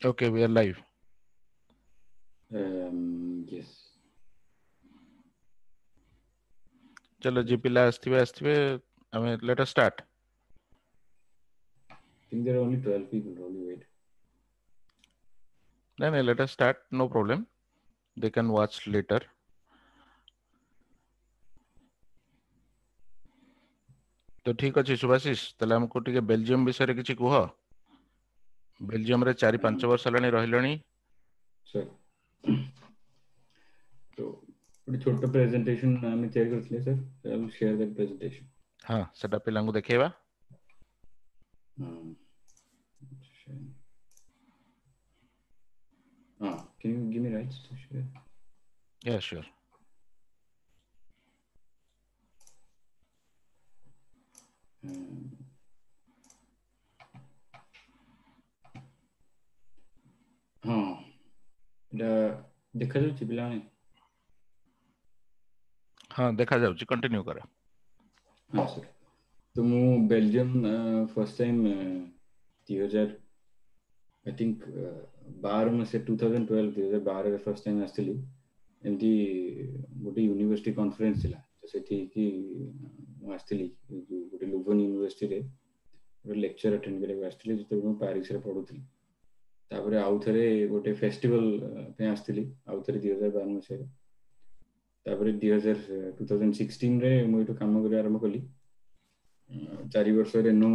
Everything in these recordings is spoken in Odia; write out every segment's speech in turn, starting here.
Okay, we are live. Yes. चलो जे पिला ଆସିଥିବେ ଆସିଥିବେ ଆମେ let us start. I think there are only 12 people. Only wait. No, no, let us start. No problem. They can watch later. ତ ଠିକ ଅଛି ସୁଭାଶିଷ, ତାହେଲେ ଆମକୁ ଟିକେ ବେଲଜିୟମ ବିଷୟରେ କିଛି କୁହ। ବେଲଜିୟମରେ 4-5 ବର୍ଷ ହେଲାଣି ରହିଲଣି। ସାର୍, ତ ଗୋଟେ ଛୋଟ ପ୍ରେଜେଣ୍ଟେସନ ଆମେ ତିଆରି କରିଥିଲେ sir. I will share that presentation. ହଁ, ସେଟା ପିଲାଙ୍କୁ ଦେଖେଇବା। ହଁ, can you give me rights to share? Yeah, sure. ହଁ, ଏଇଟା ଦେଖାଯାଉଛି ପିଲାମାନେ? ହଁ, ଦେଖାଯାଉଛି, କଣ୍ଟିନ୍ୟୁ କର। ହଁ ସାର୍, ତ ମୁଁ Belgium first time 2000 I think 12 ମସିହା 2012 2012ରେ ଫାର୍ଷ୍ଟ ଟାଇମ୍ ଆସିଥିଲି। ଏମିତି ଗୋଟେ ୟୁନିଭର୍ସିଟି କନଫରେନ୍ସ ଥିଲା, ତ ସେଠିକି ମୁଁ ଆସିଥିଲି। ଯୋଉ ଗୋଟେ ଲୁଭନ ୟୁନିଭର୍ସିଟିରେ ଗୋଟେ ଲେକ୍ଚର ଆଟେଣ୍ଡ କରିବାକୁ ଆସିଥିଲି ଯେତେବେଳେ ମୁଁ ପ୍ୟାରିସରେ ପଢୁଥିଲି। ତାପରେ ଆଉ ଥରେ ଗୋଟେ ଫେଷ୍ଟିଭାଲ ପାଇଁ ଆସିଥିଲି, ଆଉ ଥରେ 2012 ମସିହାରେ। ତାପରେ 2016ରେ ମୁଁ ଏଇଠୁ କାମ କରିବା ଆରମ୍ଭ କଲି। 4 ବର୍ଷ ରେନୋ,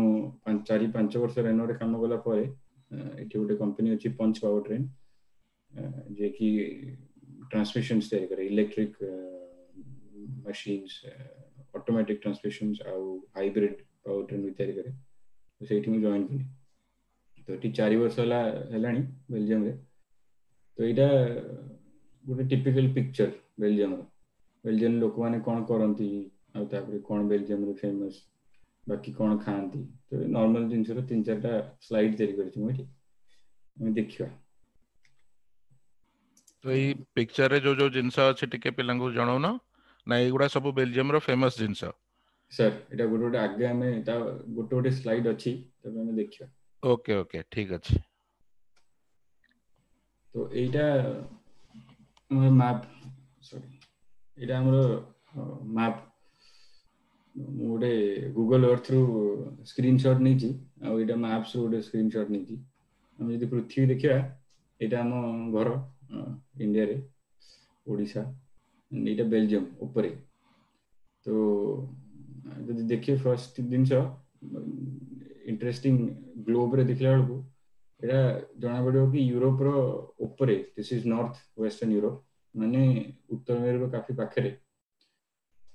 4-5 ବର୍ଷ ରେନୋରେ କାମ କଲା ପରେ ଏଠି ଗୋଟେ କମ୍ପାନୀ ଅଛି ପଞ୍ଚ ପାୱାର ଟ୍ରେନ୍, ଯିଏକି ଟ୍ରାନ୍ସମିସନ୍ସ ତିଆରି କରେ, ଇଲେକ୍ଟ୍ରିକ ମେସିନ୍ସ, ଅଟୋମେଟିକ ଟ୍ରାନ୍ସମିସନ୍ସ ଆଉ ହାଇବ୍ରିଡ ପାୱାର ଟ୍ରେନ୍ ବି ତିଆରି କରେ। ତ ସେଇଠି ମୁଁ ଜଏନ୍ କଲି। ତ ଏଠି 4 ବର୍ଷ ହେଲାଣି ବେଲଜିୟମରେ। ତ ଏଇଟା ଗୋଟେ ଟିପିକାଲ ପିକ୍ଚର ବେଲଜିୟମର। ବେଲଜିୟମ ଲୋକମାନେ କଣ କରନ୍ତି ଆଉ ତାପରେ କଣ ବେଲଜିୟମରେ ଫେମସ, ବାକି କଣ ଖାଆନ୍ତି, ତ ନର୍ମାଲ ଜିନିଷର 3-4ଟା ସ୍ଲାଇଡ୍ ତିଆରି କରିଛି ମୁଁ ଏଠି, ଆମେ ଦେଖିବା। ତ ଏଇ ପିକ୍ଚରରେ ଯୋଉ ଯୋଉ ଜିନିଷ ଅଛି ଟିକେ ପିଲାଙ୍କୁ ଜଣାଉନ ନା, ଏଇଗୁଡା ସବୁ ବେଲଜିୟମର ଫେମସ ଜିନିଷ? ସାର୍, ଏଇଟା ଗୋଟେ ଗୋଟେ ଆଗେ ଆମେ ତା ଗୋଟେ ଗୋଟେ ସ୍ଲାଇଡ୍ ଅଛି, ତାକୁ ଆମେ ଦେଖିବା। ଓକେ ଓକେ, ଠିକ ଅଛି। ତ ଏଇଟା ଆମର ମ୍ୟାପ୍, ସରି, ଏଇଟା ଆମର ମ୍ୟାପ୍। ମୁଁ ଗୋଟେ ଗୁଗଲ ଅର୍ଥରୁ ସ୍କ୍ରିନସଟ୍ ନେଇଛି ଆଉ ଏଇଟା ମ୍ୟାପ୍ସରୁ ଗୋଟେ ସ୍କ୍ରିନସଟ୍ ନେଇଛି। ଆମେ ଯଦି ପୃଥିବୀ ଦେଖିବା, ଏଇଟା ଆମ ଘର ଇଣ୍ଡିଆରେ, ଓଡ଼ିଶା, ଏଇଟା ବେଲଜିୟମ ଉପରେ। ତ ଯଦି ଦେଖିବେ ଫାର୍ଷ୍ଟ ଜିନିଷ ଇଣ୍ଟରେଷ୍ଟିଂ ଗ୍ଲୋବରେ ଦେଖିଲା ବେଳକୁ ଏଇଟା ଜଣା ପଡିବ କି ୟୁରୋପର ଉପରେ, this is north western Europe, ମାନେ ଉତ୍ତର ମେରୁର କାଫି ପାଖରେ।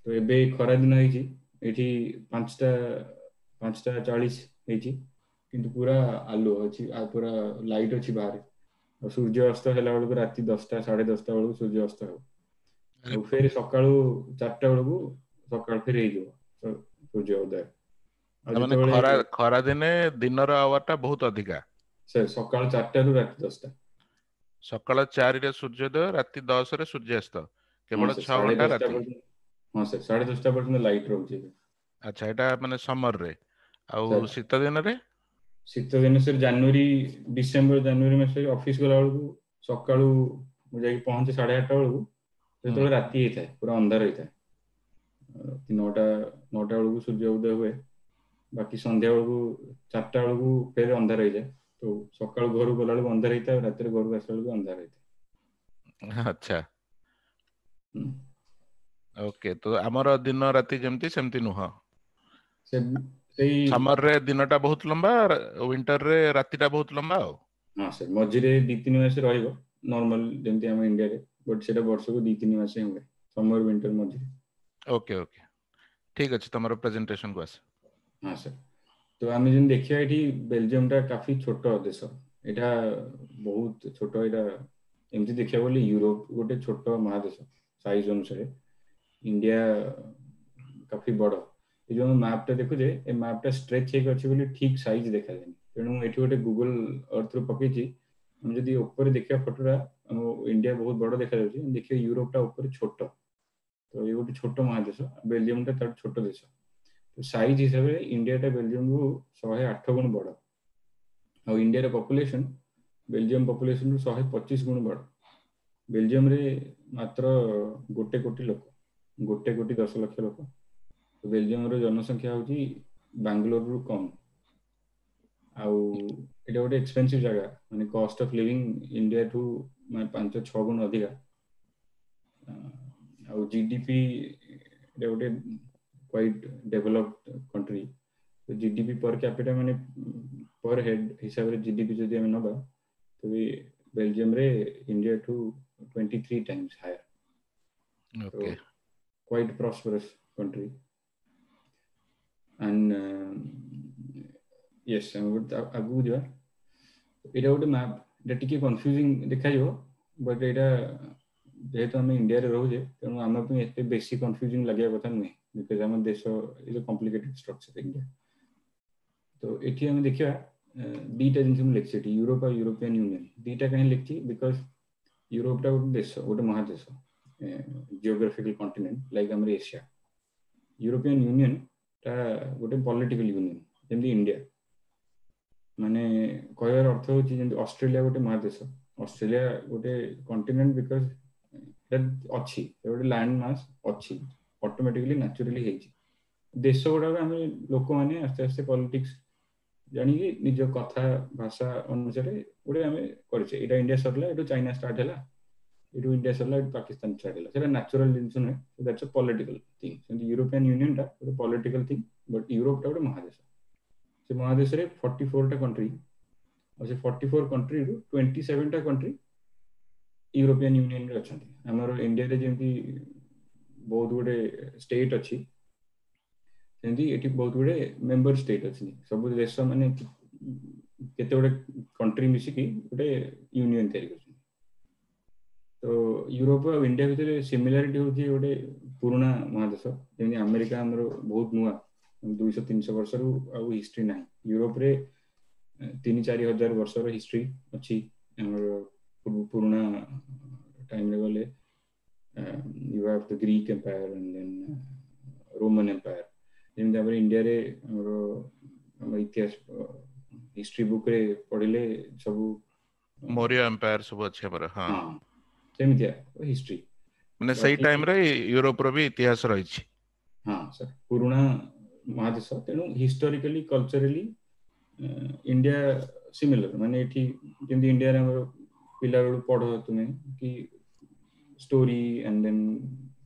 ତ ଏବେ ଖରା ଦିନ ହେଇଛି, ଏଇଠି 5:40 ହେଇଛି, କିନ୍ତୁ ପୁରା ଆଲୁଅ ଅଛି ଆଉ ପୁରା ଲାଇଟ୍ ଅଛି ବାହାରେ। ଆଉ ସୂର୍ଯ୍ୟ ଅସ୍ତ ହେଲା ବେଳକୁ ରାତି 10ଟା 10:30 ବେଳକୁ ସୂର୍ଯ୍ୟ ଅସ୍ତ ହେବ, ଆଉ ଫେର ସକାଳୁ 4ଟା ବେଳକୁ ସକାଳ ଫେର ହେଇଯିବ ସୂର୍ଯ୍ୟ ଉଦୟ। ମାନେ ଖରା ଦିନେ ଦିନର ଆୱାର ଟା ବହୁତ ଅଧିକା। ସାର୍, ସକାଳ 4ଟାରୁ ରାତି 10ଟା। ସକାଳ 4ରେ ସୂର୍ଯ୍ୟୋଦୟ, ରାତି 10ରେ ସୂର୍ଯ୍ୟାସ୍ତ, କେବଳ 6 ଘଣ୍ଟା ରାତି। ହଁ ସାର୍, 10:30 ପର୍ଯ୍ୟନ୍ତ ଲାଇଟ୍ ରହୁଛି। ଆଚ୍ଛା, ଏଇଟା ମାନେ ସମରରେ। ଆଉ ଶୀତ ଦିନରେ? ଶୀତ ଦିନ ସାର୍ ଜାନୁଆରୀ, ଡିସେମ୍ବର ଜାନୁଆରୀ ମାସରେ ଅଫିସ ଗଲା ବେଳକୁ ସକାଳୁ ମୁଁ ଯାଇକି ପହଞ୍ଚେ 8:30 ବେଳକୁ, ସେତେବେଳେ ରାତି ହେଇଥାଏ, ପୁରା ଅନ୍ଧାର ହେଇଥାଏ। 9ଟା ବେଳକୁ ସୂର୍ଯ୍ୟ ଉଦୟ ହୁଏ, ବାକି ସନ୍ଧ୍ୟା ବେଳକୁ 4ଟା ବେଳକୁ ଫେର ଅନ୍ଧାର ହେଇଯାଏ। ତ ସକାଳୁ ଘରୁ ଗଲା ବେଳକୁ ଅନ୍ଧାର ହେଇଥାଏ, ରାତିରେ ଘରକୁ ଆସିଲା ବେଳକୁ ଅନ୍ଧାର ହେଇଥାଏ। ଆଚ୍ଛା, ଓକେ। ତ ଆମର ଦିନ ରାତି ଯେମିତି ସେମିତି ନୁହଁ। ସେଇ ସମରରେ ଦିନଟା ବହୁତ ଲମ୍ବା, ୱିଣ୍ଟରରେ ରାତିଟା ବହୁତ ଲମ୍ବା। ଆଉ ହଁ ସାର୍, ମଝିରେ 2-3 ମାସ ରହିବ ନର୍ମାଲ ଯେମିତି ଆମ ଇଣ୍ଡିଆରେ, ବଟ୍ ସେଟା ବର୍ଷକୁ 2-3 ମାସ ହିଁ ହୁଏ, ସମର ୱିଣ୍ଟର ମଝିରେ। ଓକେ ଓକେ, ଠିକ ଅଛି, ତମର ପ୍ରେଜେଣ୍ଟେସନ କୁ ଆସ। ହଁ ସାର୍, ତ ଆମେ ଯେମିତି ଦେଖିବା ଏଠି ବେଲଜିୟମଟା କାଫି ଛୋଟ ଦେଶ, ଏଇଟା ବହୁତ ଛୋଟ। ଏଇଟା ଏମିତି ଦେଖିବାକୁ ଗଲେ ୟୁରୋପ ଗୋଟେ ଛୋଟ ମହାଦେଶ ସାଇଜ ଅନୁସାରେ, ଇଣ୍ଡିଆ କାଫି ବଡ। ଏ ଯୋଉ ଆମେ ମ୍ୟାପଟା ଦେଖୁଛେ, ଏ ମ୍ୟାପଟା ଷ୍ଟ୍ରେଚ୍ ହେଇକି ଅଛି ବୋଲି ଠିକ ସାଇଜ ଦେଖାଯାଏନି। ତେଣୁ ଏଠି ଗୋଟେ ଗୁଗଲ ଅର୍ଥରୁ ପକେଇଛି, ଆମେ ଯଦି ଉପରେ ଦେଖିବା ଫଟୋଟା, ଆମ ଇଣ୍ଡିଆ ବହୁତ ବଡ ଦେଖାଯାଉଛି, ଦେଖିବା ୟୁରୋପଟା ଉପରେ ଛୋଟ। ତ ଇଏ ଗୋଟେ ଛୋଟ ମହାଦେଶ, ବେଲଜିୟମଟା ତାଠୁ ଛୋଟ ଦେଶ। ତ ସାଇଜ ହିସାବରେ ଇଣ୍ଡିଆଟା ବେଲଜିୟମକୁ 108 ଗୁଣ ବଡ। ଆଉ ଇଣ୍ଡିଆର ପପୁଲେସନ ବେଲଜିୟମ ପପୁଲେସନରୁ 125 ଗୁଣ ବଡ଼। ବେଲଜିୟମରେ ମାତ୍ର 1 କୋଟି ଲୋକ, 1 କୋଟି 10 ଲକ୍ଷ ଲୋକ। ବେଲଜିୟମର ଜନସଂଖ୍ୟା ହଉଛି ବାଙ୍ଗାଲୋରରୁ କମ୍। ଆଉ ଏଇଟା ଗୋଟେ ଏକ୍ସପେନ୍ସିଭ ଜାଗା, ମାନେ କଷ୍ଟ ଅଫ ଲିଭିଂ ଇଣ୍ଡିଆଠୁ ମାନେ 5-6 ଗୁଣ ଅଧିକା। ଆଉ ଜିଡିପି, ଏଇଟା ଗୋଟେ କ୍ୱାଇଟ୍ ଡେଭଲପଡ କଣ୍ଟ୍ରି। ଜିଡିପି ପର କ୍ୟାପିଟା ମାନେ ପର ହେଡ୍ ହିସାବରେ ଜିଡିପି ଯଦି ଆମେ ନେବା, ତେବେ ବେଲଜିୟମରେ ଇଣ୍ଡିଆଠୁ 23 times higher. Quite prosperous country. And yes, ଆମେ ଗୋଟେ ଆଗକୁ ଯିବା। ଏଇଟା ଗୋଟେ ମ୍ୟାପ୍, ଏଇଟା ଟିକେ କନଫ୍ୟୁଜିଂ ଦେଖାଯିବ, ବଟ୍ ଏଇଟା ଯେହେତୁ ଆମେ ଇଣ୍ଡିଆରେ ରହୁଛେ, ତେଣୁ ଆମ ପାଇଁ ଏତେ ବେଶୀ କନଫ୍ୟୁଜିଂ ଲାଗିବା କଥା ନୁହେଁ, because ଆମ ଦେଶ is complicated structure India. ତ ଏଠି ଆମେ ଦେଖିବା ଦିଟା ଜିନିଷ ମୁଁ ଲେଖିଛି ଏଠି, ୟୁରୋପ ଆଉ ୟୁରୋପିଆନ ୟୁନିୟନ। ଦିଟା କାହିଁ ଲେଖିଛି? Because ୟୁରୋପଟା ଗୋଟେ ଦେଶ, ଗୋଟେ ମହାଦେଶ, ଜିଓଗ୍ରାଫିକାଲ କଣ୍ଟିନେଣ୍ଟ ଲାଇକ୍ ଆମର ଏସିଆ। ୟୁରୋପିଆନ ୟୁନିୟନ ଟା ଗୋଟେ ପଲିଟିକାଲ ୟୁନିୟନ, ଯେମିତି ଇଣ୍ଡିଆ। ମାନେ କହିବାର ଅର୍ଥ ହଉଛି ଯେମିତି ଅଷ୍ଟ୍ରେଲିଆ ଗୋଟେ ମହାଦେଶ, ଅଷ୍ଟ୍ରେଲିଆ ଗୋଟେ କଣ୍ଟିନେଣ୍ଟ, because ଏଟା ଅଛି, ଗୋଟେ ଲ୍ୟାଣ୍ଡ ମାସ୍ ଅଛି, ଅଟୋମେଟିକାଲି ନ୍ୟାଚୁରାଲି ହେଇଛି। ଦେଶ ଗୁଡାକ ଆମେ ଲୋକମାନେ ଆସ୍ତେ ଆସ୍ତେ ପଲିଟିକ୍ସ ଜାଣିକି ନିଜ କଥା ଭାଷା ଅନୁସାରେ ଗୋଟେ ଆମେ କରିଛେ। ଏଇଟା ଇଣ୍ଡିଆ ସରିଲା, ଏଠୁ ଚାଇନା ଷ୍ଟାର୍ଟ ହେଲା, ଏଠୁ ଇଣ୍ଡିଆ ସରିଲା, ଏଠୁ ପାକିସ୍ତାନ ଷ୍ଟାର୍ଟ ହେଲା। ସେଟା ନ୍ୟାଚୁରାଲ ଜିନିଷ ନୁହେଁ, that's a political thing. ସେମିତି ୟୁରୋପିଆନ ୟୁନିୟନ ଟା ଗୋଟେ ପଲିଟିକାଲ ଥିଙ୍ଗ, ବଟ୍ ୟୁରୋପଟା ଗୋଟେ ମହାଦେଶ। ସେ ମହାଦେଶରେ 44ଟା କଣ୍ଟ୍ରି, ଆଉ ସେ 44 କଣ୍ଟ୍ରିରୁ 27ଟା କଣ୍ଟ୍ରି ୟୁରୋପିଆନ ୟୁନିୟନରେ ଅଛନ୍ତି। ଆମର ଇଣ୍ଡିଆରେ ଯେମିତି ବହୁତ ଗୁଡେ ଷ୍ଟେଟ୍ ଅଛି, ସେମିତି ଏଠି ବହୁତ ଗୁଡେ ମେମ୍ବର ଷ୍ଟେଟ୍ ଅଛନ୍ତି। ସବୁ ଦେଶ ମାନେ କେତେ ଗୁଡେ କଣ୍ଟ୍ରି ମିଶିକି ଗୋଟେ ୟୁନିୟନ ତିଆରି କରୁଛନ୍ତି। ତ ୟୁରୋପ ଆଉ ଇଣ୍ଡିଆ ଭିତରେ ସିମିଲାରିଟି ହଉଛି ଗୋଟେ ପୁରୁଣା ମହାଦେଶ। ଯେମିତି ଆମେରିକା ଆମର ବହୁତ ନୂଆ, 200-300 ବର୍ଷରୁ ଆଉ ହିଷ୍ଟ୍ରି ନାହିଁ। ୟୁରୋପରେ 3-4 ହଜାର ବର୍ଷର ହିଷ୍ଟ୍ରି ଅଛି। ଆମର ପୁରୁଣା ଟାଇମରେ ଗଲେ you have the Greek Empire and then Roman Empire. ଯେମିତି ଆମର ଇଣ୍ଡିଆରେ ଆମର ଆମ ଇତିହାସ ହିଷ୍ଟ୍ରି ବୁକରେ ପଢିଲେ ସବୁ ମୌର୍ଯ୍ୟ ଏମ୍ପାୟାର ସବୁ ଅଛି ଆମର। ହଁ, ସେମିତିଆ ହିଷ୍ଟ୍ରି। ମାନେ ସେଇ ଟାଇମରେ ୟୁରୋପର ବି ଇତିହାସ ରହିଛି। ହଁ ସାର୍, ପୁରୁଣା ମହାଦେଶ। ତେଣୁ ହିଷ୍ଟୋରିକାଲି କଲଚରାଲି ଇଣ୍ଡିଆ ସିମିଲର। ମାନେ ଏଠି ଯେମିତି ଇଣ୍ଡିଆରେ ଆମର ପିଲାବେଳୁ ପଢ ତୁମେ କି story and then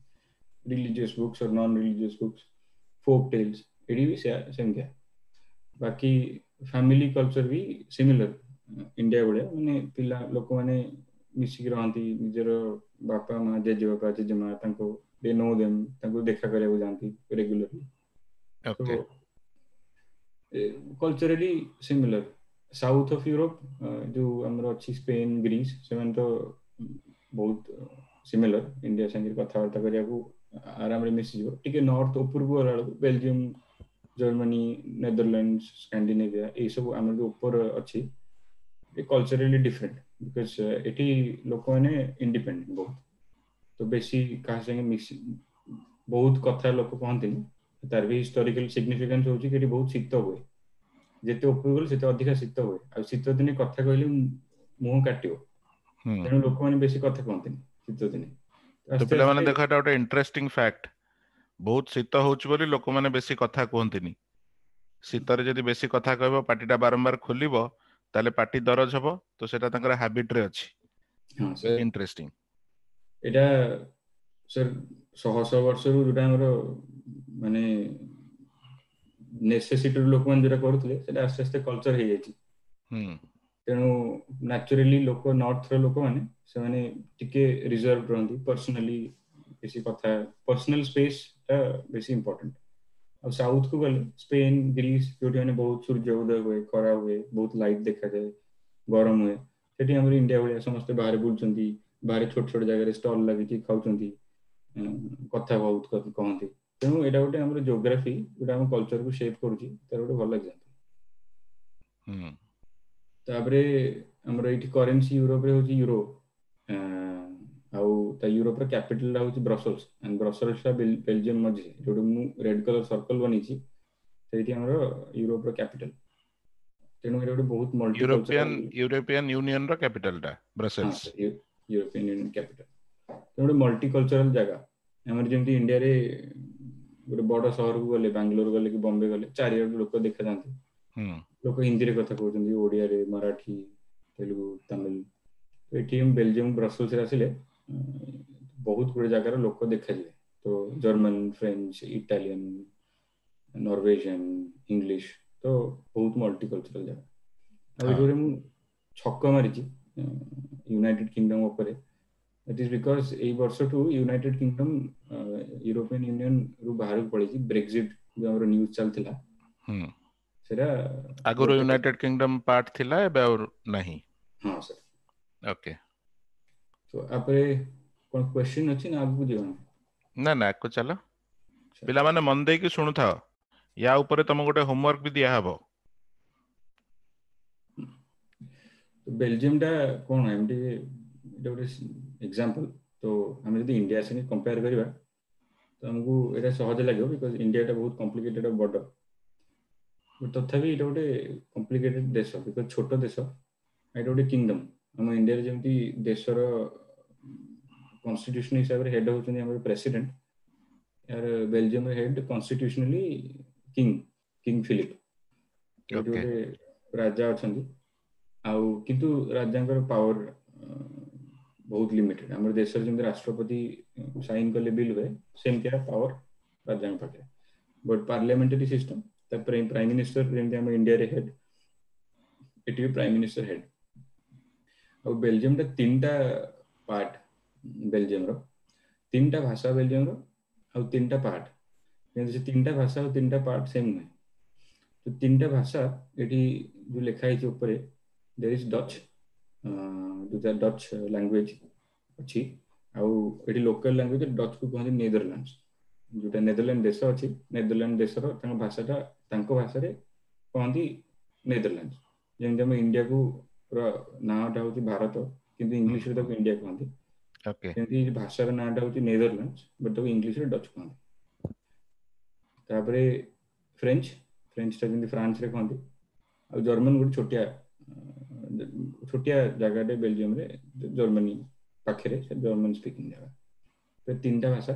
religious books or non religious books, folk tales, ଏଠି ବି ସେମିତିଆ। ବାକି ଫ୍ୟାମିଲି କଲଚର ବି ସିମିଲର ଇଣ୍ଡିଆ ଭଳିଆ। ମାନେ ପିଲା ଲୋକମାନେ ମିଶିକି ରହନ୍ତି, ନିଜର ବାପା ମା, ଜେଜେବାପା, ଜେଜେମା, ତାଙ୍କୁ ଦେ ନୋ ଦେମ୍, ତାଙ୍କୁ ଦେଖା କରିବାକୁ ଯାଆନ୍ତି regularly. Culturally similar. South of Europe ଯୋଉ ଆମର ଅଛି ସ୍ପେନ, ଗ୍ରୀସ, ସେମାନେ ତ ବହୁତ ସିମିଲର ଇଣ୍ଡିଆ ସାଙ୍ଗରେ, କଥାବାର୍ତ୍ତା କରିବାକୁ ଆରାମରେ ମିଶିଯିବ। ଟିକେ ନର୍ଥ ଉପରକୁ ଗଲା ବେଳକୁ ବେଲଜିୟମ, ଜର୍ମାନୀ, ନେଦରଲ୍ୟାଣ୍ଡ, ସ୍କାଣ୍ଡିନେଭିଆ, ଏଇସବୁ ଆମର ଯୋଉ ଉପର ଅଛି, କଲଚରାଲି ଡିଫରେଣ୍ଟ, because ଏଠି ଲୋକମାନେ ଇଣ୍ଡିପେଣ୍ଡେଣ୍ଟ ବହୁତ, ତ ବେଶୀ କାହା ସାଙ୍ଗେ ମିଶି ବହୁତ କଥା ଲୋକ କହନ୍ତିନି। ତାର ବି ହିଷ୍ଟୋରିକାଲ ସିଗ୍ନିଫିକାନ୍ସ ହଉଛି କି ଏଠି ବହୁତ ଶୀତ ହୁଏ। ଯେତେ ଉପରକୁ ଗଲେ ସେତେ ଅଧିକା ଶୀତ ହୁଏ, ଆଉ ଶୀତ ଦିନେ କଥା କହିଲେ ମୁହଁ କାଟିବ, ତେଣୁ ଲୋକମାନେ ବେଶୀ କଥା କହନ୍ତିନି ଶୀତ ଦିନେ। ତ ପିଲାମାନେ ଦେଖ, ଏଟା ଗୋଟେ ଇଣ୍ଟରେଷ୍ଟିଂ ଫ୍ୟାକ୍ଟ। ବହୁତ ଶୀତ ହଉଛି ବୋଲି ଲୋକମାନେ ବେଶୀ କଥା କୁହନ୍ତିନି। ଶୀତରେ ଯଦି ବେଶୀ କଥା କହିବ, ପାଟିଟା ବାରମ୍ବାର ଖୋଲିବ, ତାହେଲେ ପାଟି ଦରଜ ହବ। ତ ସେଟା ତାଙ୍କର ହାବିଟ ରେ ଅଛି। ଇଣ୍ଟରେଷ୍ଟିଂ। ଏଇଟା ସାର୍ ଶହ ଶହ ବର୍ଷରୁ ଯୋଉଟା ଆମର ମାନେ ନେସେସିଟିରୁ ଲୋକମାନେ ଯୋଉଟା କରୁଥିଲେ, ସେଟା ଆସ୍ତେ ଆସ୍ତେ କଲଚର ହେଇଯାଇଛି। ତେଣୁ ନ୍ୟାଚୁରାଲି ଲୋକ, ନର୍ଥର ଲୋକମାନେ, ସେମାନେ ଟିକେ ରିଜର୍ଭ ରହନ୍ତି, ପର୍ସନାଲି ବେଶୀ କଥା, ପର୍ସନାଲ ସ୍ପେସ୍ ଟା ବେଶୀ ଇମ୍ପୋର୍ଟାଣ୍ଟ। ଆଉ ସାଉଥ କୁ ଗଲେ ସ୍ପେନ, ଗ୍ରୀସ, ଯୋଉଠି ମାନେ ବହୁତ ସୂର୍ଯ୍ୟ ଉଦୟ ହୁଏ, ଖରା ହୁଏ, ବହୁତ ଲାଇଟ୍ ଦେଖାଯାଏ, ଗରମ ହୁଏ, ସେଠି ଆମର ଇଣ୍ଡିଆ ଭଳିଆ ସମସ୍ତେ ବାହାରେ ବୁଲୁଛନ୍ତି, ବାହାରେ ଛୋଟ ଛୋଟ ଜାଗାରେ ଷ୍ଟଲ ଲାଗିଛି, ଖାଉଛନ୍ତି, କଥା ବହୁତ କହନ୍ତି। ତେଣୁ ଏଇଟା ଗୋଟେ ଆମର ଜିଓଗ୍ରାଫି ଯୋଉଟା ଆମ କଲଚରକୁ ସେପ୍ କରୁଛି, ତାର ଗୋଟେ ଭଲ ଏକ୍ସାମ୍ପଲ। ତାପରେ ଆମର ଏଇଠି କରେନ୍ସି ୟୁରୋପରେ ହଉଛି ୟୁରୋ, ଆଉ ତା ୟୁରୋପର କ୍ୟାପିଟାଲଟା ହଉଛି ବ୍ରସେଲ୍ସ। ଆଣ୍ଡ ବ୍ରସେଲ୍ସଟା ବେଲଜିୟମ ମଝିରେ, ଯୋଉଠି ମୁଁ ରେଡ୍ କଲର ସର୍କଲ ବନେଇଛି, ସେଇଠି ଆମର ୟୁରୋପର କ୍ୟାପିଟାଲ। ତେଣୁ ଏଇଟା ଗୋଟେ ବହୁତ ୟୁରୋପିଆନ ମଲ୍ଟିକଲଚରାଲ। ୟୁରୋପିଆନ ୟୁନିୟନ ର କ୍ୟାପିଟାଲ ଟା ହଁ Brussels. Sir, European union capital. ତେଣୁ ଗୋଟେ ମଲ୍ଟିକଲଚରାଲ ଜାଗା। ଆମର ଯେମିତି ଇଣ୍ଡିଆରେ ଗୋଟେ ବଡ ସହରକୁ ଗଲେ, ବାଙ୍ଗାଲୋର ଗଲେ କି ବମ୍ବେ ଗଲେ, ଚାରିଆଡୁ ଲୋକ ଦେଖାଯାଆନ୍ତି। ହୁଁ ଲୋକ ହିନ୍ଦୀରେ କଥା କହୁଛନ୍ତି, ଓଡିଆରେ, ମରାଠୀ, ତେଲୁଗୁ, ତାମିଲ। ତ ଏଠି ବେଲଜିୟମ ବ୍ରସେଲ୍ସରେ ଆସିଲେ ବହୁତ ଗୁଡେ ଜାଗାର ଲୋକ ଦେଖାଯିବେ। ତ German, French, Italian, Norwegian, English, ତ ବହୁତ ମଲ୍ଟିକଲଚରାଲ ଜାଗା। ଆଉ ହଁ ଏଠି ଗୋଟେ ମୁଁ ଛକ ମାରିଛି ୟୁନାଇଟେଡ କିଙ୍ଗଡମ ଉପରେ। ଇଟ୍ is because ଏଇ ବର୍ଷଠୁ ୟୁନାଇଟେଡ କିଙ୍ଗଡମ ୟୁରୋପିଆନ ୟୁନିୟନ ରୁ ବାହାରକୁ ପଳେଇଛି। ବ୍ରେକ୍ଜିଟ ଯୋଉ ଆମର ନ୍ୟୁଜ ଚାଲିଥିଲା, ହୁଁ ସେଟା ଆଗରୁ ଗୋଟେ। ୟୁନାଇଟେଡ କିଙ୍ଗଡମ ପାର୍ଟ ଥିଲା, ଏବେ ଆଉ ନାହିଁ। ହଁ ସାର୍। ଓକେ। ତ ଆପରେ କଣ କ୍ୱେଶ୍ଚିନ୍ ଅଛି ନା ଆଗକୁ ଯିବା? ନା ନା, ଆଗକୁ ଚାଲ। ଆଚ୍ଛା। ପିଲାମାନେ, ମନ ଦେଇକି ଶୁଣୁଥାଅ। ୟା ଉପରେ ତମକୁ ଗୋଟେ ହୋମୱାର୍କ ବି ଦିଆହବ। ବେଲଜିୟମ ଟା କଣ, ଏମିତି ଏଇଟା ଗୋଟେ ଏକ୍ସାମ୍ପଲ। ତ ଆମେ ଯଦି ଇଣ୍ଡିଆ ସାଙ୍ଗେ କମ୍ପେୟାର କରିବା, ତ ଆମକୁ ଏଇଟା ସହଜ ଲାଗିବ, because ଇଣ୍ଡିଆଟା ବହୁତ କମ୍ପ୍ଲିକେଟେଡ, ବଡ। ତଥାପି ଏଇଟା ଗୋଟେ କମ୍ପ୍ଲିକେଟେଡ ଦେଶ, because ଛୋଟ ଦେଶ, ଏଇଟା ଗୋଟେ କିଙ୍ଗଡମ। ଆମ ଇଣ୍ଡିଆରେ ଯେମିତି ଦେଶର କନଷ୍ଟିଟ୍ୟୁସନ ହିସାବରେ ହେଡ୍ ହଉଛନ୍ତି ଆମର ପ୍ରେସିଡେଣ୍ଟ, ଏହାର ବେଲଜିୟମର ହେଡ୍ କନଷ୍ଟିଟ୍ୟୁସନାଲି କିଙ୍ଗ, କିଙ୍ଗ ଫିଲିପ। ଏଇଠି ଗୋଟେ ରାଜା ଅଛନ୍ତି। ଆଉ କିନ୍ତୁ ରାଜାଙ୍କର ପାୱାର ବହୁତ ଲିମିଟେଡ। ଆମର ଦେଶରେ ଯେମିତି ରାଷ୍ଟ୍ରପତି ସାଇନ କଲେ ବିଲ୍ ହୁଏ, ସେମିତିଆ ପାୱାର ରାଜାଙ୍କ ପାଖରେ। But parliamentary system. ତାପରେ ପ୍ରାଇମ ମିନିଷ୍ଟର ଯେମିତି ଆମ ଇଣ୍ଡିଆରେ ହେଡ୍, ଏଠି ବି ପ୍ରାଇମ ମିନିଷ୍ଟର ହେଡ୍। ଆଉ ବେଲଜିୟମଟା ତିନିଟା ପାର୍ଟ, ବେଲଜିୟମର ତିନିଟା ଭାଷା, ବେଲଜିୟମର ଆଉ ତିନିଟା ପାର୍ଟ। କିନ୍ତୁ ସେ ତିନିଟା ଭାଷା ଆଉ ତିନିଟା ପାର୍ଟ ସେମ୍ ନୁହେଁ। ତ ତିନିଟା ଭାଷା ଏଠି ଯୋଉ ଲେଖା ହେଇଛି ଉପରେ, ଦେର୍ is Dutch, ଯୋଉଟା ଡଚ୍ ଲାଙ୍ଗୁଏଜ ଅଛି। ଆଉ ଏଠି ଲୋକାଲ ଲାଙ୍ଗୁଏଜ ଡଚ୍ କୁ କୁହନ୍ତି ନେଦରଲ୍ୟାଣ୍ଡ। ଯୋଉଟା ନେଦରଲ୍ୟାଣ୍ଡ ଦେଶ ଅଛି, ନେଦରଲ୍ୟାଣ୍ଡ ଦେଶର ତାଙ୍କ ଭାଷାଟା ତାଙ୍କ ଭାଷାରେ କହନ୍ତି ନେଦରଲ୍ୟାଣ୍ଡ। ଯେମିତି ଆମ ଇଣ୍ଡିଆକୁ ନାଁଟା ହଉଛି ଭାରତ, କିନ୍ତୁ ଇଂଲିଶରେ ତାକୁ ଇଣ୍ଡିଆ କୁହନ୍ତି, ସେମିତି ଭାଷାର ନାଁଟା ହଉଛି ନେଦରଲ୍ୟାଣ୍ଡ, ବଟ୍ ତାକୁ ଇଂଲିଶରେ ଡଚ୍ କୁହନ୍ତି। ତାପରେ ଫ୍ରେଞ୍ଚ, ଫ୍ରେଞ୍ଚଟା ଯେମିତି ଫ୍ରାନ୍ସରେ କହନ୍ତି। ଆଉ ଜର୍ମାନ ଗୋଟେ ଛୋଟିଆ ଛୋଟିଆ ଜାଗାଟେ ବେଲଜିୟମରେ, ଜର୍ମାନୀ ପାଖରେ, ସେ ଜର୍ମାନ ସ୍ପିକିଂ ଜାଗା। ତ ତିନିଟା ଭାଷା।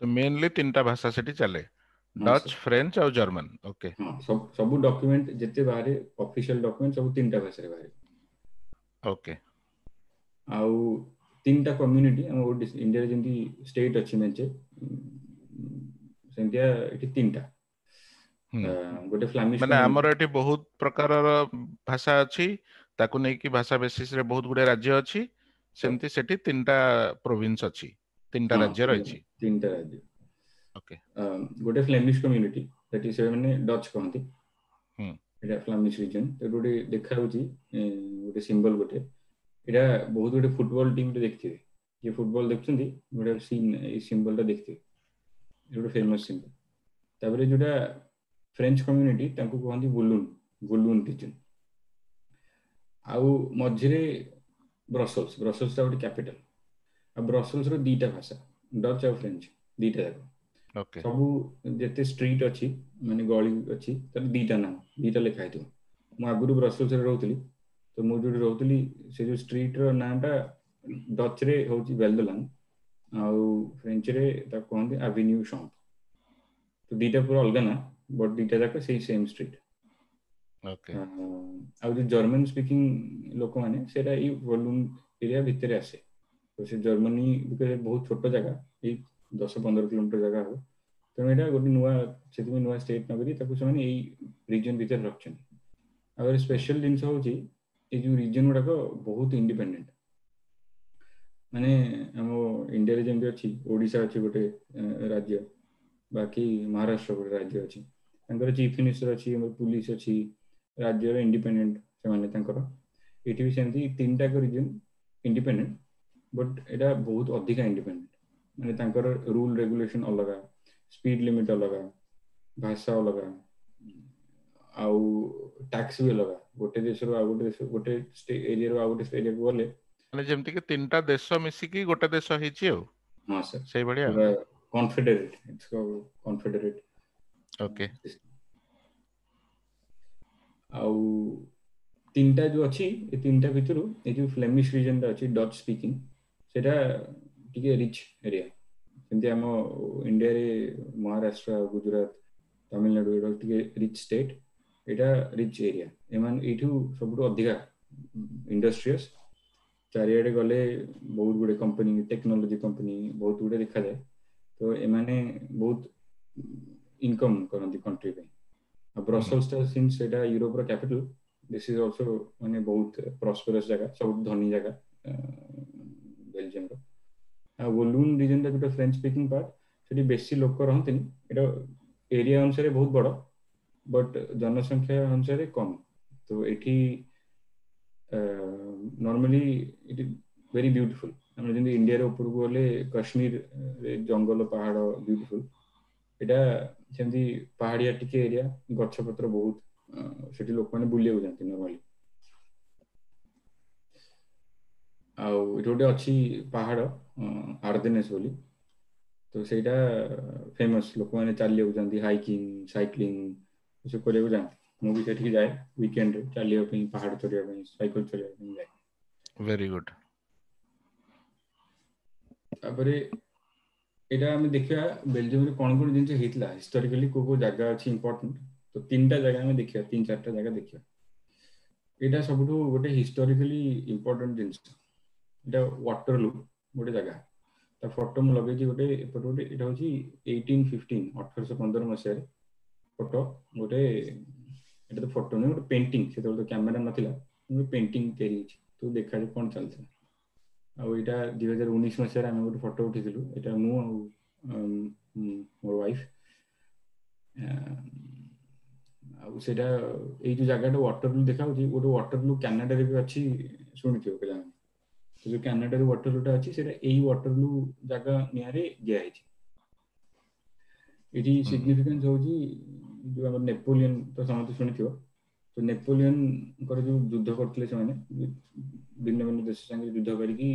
ତ ମେନଲି ତିନିଟା ଭାଷା ସେଠି ଚାଲେ, ହଁ ଡଚ୍, ସାର୍। ଫ୍ରେଞ୍ଚ ଆଉ ଜର୍ମାନ। ଓକେ। ହଁ, ସବୁ ଡକ୍ୟୁମେଣ୍ଟ ଯେତେ ବାହାରେ, ଅଫିସିଆଲ ଡକ୍ୟୁମେଣ୍ଟ, ସବୁ ତିନିଟା ଭାଷାରେ ବାହାରେ। ଆଉ ତିନିଟା କମ୍ୟୁନିଟି। ଆମ ଇଣ୍ଡିଆରେ ଯେମିତି ଷ୍ଟେଟ୍ ଅଛି ମେଞ୍ଚେ, ସେମିତିଆ ଏଠି ତିନିଟା। ଗୋଟେ ଫ୍ଲାମିଶ ମାନେ କମ୍ୟୁନିଟି। ଆମର ଏଠି ବହୁତ ପ୍ରକାରର ଭାଷା ଅଛି, ତାକୁ ନେଇକି ଭାଷା ବେସିସ ରେ ବହୁତ ଗୁଡେ ରାଜ୍ୟ ଅଛି। ସେମିତି ସେଠି ତିନିଟା ପ୍ରୋଭିନ୍ସ ଅଛି, ତିନିଟା ରାଜ୍ୟ ରହିଛି। ତିନିଟା ରାଜ୍ୟ। ଗୋଟେ ଫ୍ଲେମିଶ କମ୍ୟୁନିଟି, ସେଠି ସେମାନେ ଡଚ୍ କହନ୍ତି। ଏଇଟା ଫ୍ଲାମିଶ ରିଜନ। ତ ଗୋଟେ ଦେଖାଯାଉଛି ଗୋଟେ ସିମ୍ବଲ ଗୋଟେ, ଏଇଟା ବହୁତ ଗୋଟେ ଫୁଟବଲ ଟିମରେ ଦେଖିଥିବେ। ଯିଏ ଫୁଟବଲ ଦେଖୁଛନ୍ତି, ଗୋଟେ ସିନ୍, ଏଇ ସିମ୍ବଲଟା ଦେଖିଥିବେ, ଗୋଟେ ଫେମସ ସିମ୍ବଲ। ତାପରେ ଯୋଉଟା ଫ୍ରେଞ୍ଚ କମ୍ୟୁନିଟି, ତାଙ୍କୁ କୁହନ୍ତି ବୁଲୁନ, ବୁଲୁନ ରିଜନ। ଆଉ ମଝିରେ ବ୍ରସଲ୍ସ। ବ୍ରସଲ୍ସଟା ଗୋଟେ କ୍ୟାପିଟାଲ। ଆଉ ବ୍ରସଲ୍ସର ଦିଟା ଭାଷା, ଡଚ୍ ଆଉ ଫ୍ରେଞ୍ଚ, ଦିଟା ଯାକ। ସବୁ ଯେତେ ଷ୍ଟ୍ରିଟ୍ ଅଛି, ମାନେ ଗଳି ଅଛି, ତାର ଦିଟା ନାଁ, ଦିଟା ଲେଖା ହେଇଥିବ। ମୁଁ ଆଗରୁ ବ୍ରସଲ୍ସରେ ରହୁଥିଲି। ତ ମୁଁ ଯୋଉଠି ରହୁଥିଲି, ସେ ଯୋଉ ଷ୍ଟ୍ରିଟ୍ର ନାଁଟା ଡଚ୍ ରେ ହଉଛି ବେଲଦଲାନ, ଆଉ ଫ୍ରେଞ୍ଚରେ ତାକୁ କୁହନ୍ତି ଆଭିନ୍ୟୁ ସମ୍ପ। ତ ଦିଟା ପୁରା ଅଲଗା ନା, ବଟ୍ ଦିଟା ଯାକ ସେଇ ସେମ୍ ଷ୍ଟ୍ରିଟ୍। ଆଉ ଯୋଉ ଜର୍ମାନ ସ୍ପିକିଂ ଲୋକମାନେ, ସେଇଟା ଏଇ ଭଲ୍ୟୁମ ଏରିଆ ଭିତରେ ଆସେ। ତ ସେ ଜର୍ମାନୀ ବହୁତ ଛୋଟ ଜାଗା, ଏଇ 10-15 କିଲୋମିଟର ଜାଗା ହବ। ତେଣୁ ଏଇଟା ଗୋଟେ ନୂଆ, ସେଥିପାଇଁ ନୂଆ ଷ୍ଟେଟ୍ ନକରି ତାକୁ ସେମାନେ ଏଇ ରିଜନ ଭିତରେ ରଖିଛନ୍ତି। ଆଉ ସ୍ପେଶାଲ ଜିନିଷ ହଉଛି, ଏଇ ଯୋଉ ରିଜନ ଗୁଡାକ ବହୁତ ଇଣ୍ଡିପେଣ୍ଡେଣ୍ଟ। ମାନେ ଆମ ଇଣ୍ଡିଆରେ ଯେମିତି ଅଛି, ଓଡିଶା ଅଛି ଗୋଟେ ରାଜ୍ୟ, ବାକି ମହାରାଷ୍ଟ୍ର ଗୋଟେ ରାଜ୍ୟ ଅଛି, ତାଙ୍କର ଚିଫ ମିନିଷ୍ଟର ଅଛି, ଆମର ପୁଲିସ ଅଛି, ରାଜ୍ୟର ଇଣ୍ଡିପେଣ୍ଡେଣ୍ଟ ସେମାନେ ତାଙ୍କର। ଏଠି ବି ସେମିତି ତିନିଟା ରିଜନ ଇଣ୍ଡିପେଣ୍ଡେଣ୍ଟ, ବଟ୍ ଏଇଟା ବହୁତ ଅଧିକା ଇଣ୍ଡିପେଣ୍ଡେଣ୍ଟ। ମାନେ ତାଙ୍କର ରୁଲ ରେଗୁଲେସନ ଅଲଗା, ସ୍ପିଡ ଲିମିଟ ଅଲଗା, ଭାଷା ଅଲଗା, ଆଉ ଟ୍ୟାକ୍ସ ବି ଅଲଗା। ଗୋଟେ ଦେଶରୁ ଆଉ ଗୋଟେ ଦେଶ, ଗୋଟେ ଏରିଆରୁ ଆଉ ଗୋଟେ ଏରିଆକୁ ଗଲେ। ମାନେ ଯେମିତି କି ତିନିଟା ଦେଶ ମିଶିକି ଗୋଟେ ଦେଶ ହେଇଛି ଆଉ। ହଁ ସାର୍। ସେଇଭଳିଆ। ପୁରା କନଫେଡେରେଟ, it's କନଫେଡେରେଟ। ଆଉ ତିନିଟା ଯୋଉ ଅଛି, ଏ ତିନିଟା ଭିତରୁ ଏ ଯୋଉ ଫ୍ଲେମିଶ ରିଜନଟା ଅଛି ଡଚ୍ ସ୍ପିକିଂ, ସେଇଟା ଟିକେ ରିଚ୍ ଏରିଆ। ଯେମିତି ଆମ ଇଣ୍ଡିଆରେ ମହାରାଷ୍ଟ୍ର, ଗୁଜୁରାଟ, ତାମିଲନାଡୁ ଏଇଟା ଟିକେ ରିଚ୍ ଷ୍ଟେଟ୍, ଏଇଟା ରିଚ୍ ଏରିଆ। ଏମାନେ ଏଇଠୁ ସବୁଠୁ ଅଧିକା ଇଣ୍ଡଷ୍ଟ୍ରିୟସ୍, ଚାରିଆଡେ ଗଲେ ବହୁତ ଗୁଡେ କମ୍ପାନୀ, ଟେକ୍ନୋଲୋଜି କମ୍ପାନୀ ବହୁତ ଗୁଡେ ଦେଖାଯାଏ। ତ ଏମାନେ ବହୁତ ଇନକମ୍ କରନ୍ତି କଣ୍ଟ୍ରି ପାଇଁ। ଆଉ ବ୍ରସେଲ୍ସଟା ସିନ୍ସ ସେଇଟା ୟୁରୋପର କ୍ୟାପିଟାଲ, this is also ମାନେ ବହୁତ ପ୍ରସ୍ପରସ୍ ଜାଗା, ସବୁଠୁ ଧନୀ ଜାଗା ବେଲଜିୟମର। ଆଉ ୱଲୁନ୍ ରିଜନଟା ଯୋଉଟା ଫ୍ରେଞ୍ଚ ସ୍ପିକିଂ ପାର୍ଟ, ସେଠି ବେଶୀ ଲୋକ ରହନ୍ତିନି। ଏଇଟା ଏରିଆ ଅନୁସାରେ ବହୁତ ବଡ, ବଟ୍ ଜନସଂଖ୍ୟା ଅନୁସାରେ କମ୍। ତ ଏଠି ନର୍ମାଲି ଇଟ୍ ଭେରି ବ୍ୟୁଟିଫୁଲ। ଆମର ଯେମିତି ଇଣ୍ଡିଆର ଉପରକୁ ଗଲେ କାଶ୍ମୀର ଜଙ୍ଗଲ ପାହାଡ ବ୍ୟୁଟିଫୁଲ, ଏଇଟା ସେମିତି ପାହାଡିଆ ଟିକେ ଏରିଆ, ଗଛ ପତ୍ର ବହୁତ, ସେଠି ଲୋକମାନେ ବୁଲିବାକୁ ଯାଆନ୍ତି ନର୍ମାଲି। ଆଉ ଏଠି ଗୋଟେ ଅଛି ପାହାଡ ଆର୍ଦେନେସ୍ ବୋଲି, ତ ସେଇଟା ଫେମସ୍, ଲୋକମାନେ ଚାଲିବାକୁ ଯାଆନ୍ତି, ହାଇକିଂ, ସାଇକ୍ଲିଂ ଏସବୁ କରିବାକୁ ଯାଆନ୍ତି। ମୁଁ ବି ସେଠିକି ଯାଏ ୱିକେଣ୍ଡରେ ଚାଲିବା ପାଇଁ, ପାହାଡ ଚଢିବା ପାଇଁ, ସାଇକେଲ ଚଲେଇବା ପାଇଁ ଯାଏ। Very good. ତାପରେ ଏଇଟା ଆମେ ଦେଖିବା ବେଲଜିୟମରେ କଣ କଣ ଜିନିଷ ହେଇଥିଲା ହିଷ୍ଟୋରିକାଲି, କୋଉ କୋଉ ଜାଗା ଅଛି ଇମ୍ପୋର୍ଟାଣ୍ଟ। ତ ତିନିଟା ଜାଗା ଆମେ ଦେଖିବା, ତିନି ଚାରିଟା ଜାଗା ଦେଖିବା। ଏଇଟା ସବୁଠୁ ଗୋଟେ ହିଷ୍ଟୋରିକାଲି ଇମ୍ପୋର୍ଟାଣ୍ଟ ଜିନିଷ। ଏଇଟା ୱାଟରଲୁ ଗୋଟେ ଜାଗା, ତା ଫଟୋ ମୁଁ ଲଗେଇଛି ଗୋଟେ ଏପଟେ ଗୋଟେ। ଏଇଟା ହଉଛି 1815, 1815 ମସିହାରେ ଫଟୋ ଗୋଟେ। ଏଇଟା ତ ଫଟୋ ନୁହେଁ, ଗୋଟେ ପେଣ୍ଟିଂ, ସେତେବେଳେ ତ କ୍ୟାମେରା ନଥିଲା, ଗୋଟେ ପେଣ୍ଟିଂ ତିଆରି ହେଇଛି, ତ ଦେଖାଯାଏ କଣ ଚାଲିଥିଲା। ଆଉ ଏଇଟା 2019 ମସିହାରେ ଆମେ ଗୋଟେ ଫଟୋ ଉଠେଇଥିଲୁ, ଏଇଟା ମୁଁ ଆଉ ମୋର ୱାଇଫ। ଆଉ ସେଇଟା ଏଇ ଯୋଉ ଜାଗାଟା ୱାଟରଲୁ ଦେଖାଯାଉଛି, ଗୋଟେ ୱାଟରଲୁ କାନାଡାରେ ବି ଅଛି, ଶୁଣିଥିବ ପିଲାମାନେ। ତ ଯୋଉ କାନାଡାରେ ୱାଟରଲୁଟା ଅଛି, ସେଇଟା ଏଇ ୱାଟରଲୁ ଜାଗା ନିଆଁରେ ଦିଆହେଇଛି। ଏଠି ସିଗ୍ନିଫିକାନ୍ସ ହଉଛି ଯୋଉ ଆମର ନେପୋଲିୟନ, ତ ସମସ୍ତେ ଶୁଣିଥିବ। ତ ନେପୋଲିୟନଙ୍କର ଯୋଉ ଯୁଦ୍ଧ କରୁଥିଲେ ସେମାନେ ଭିନ୍ନ ଭିନ୍ନ ଦେଶ ସାଙ୍ଗରେ ଯୁଦ୍ଧ କରିକି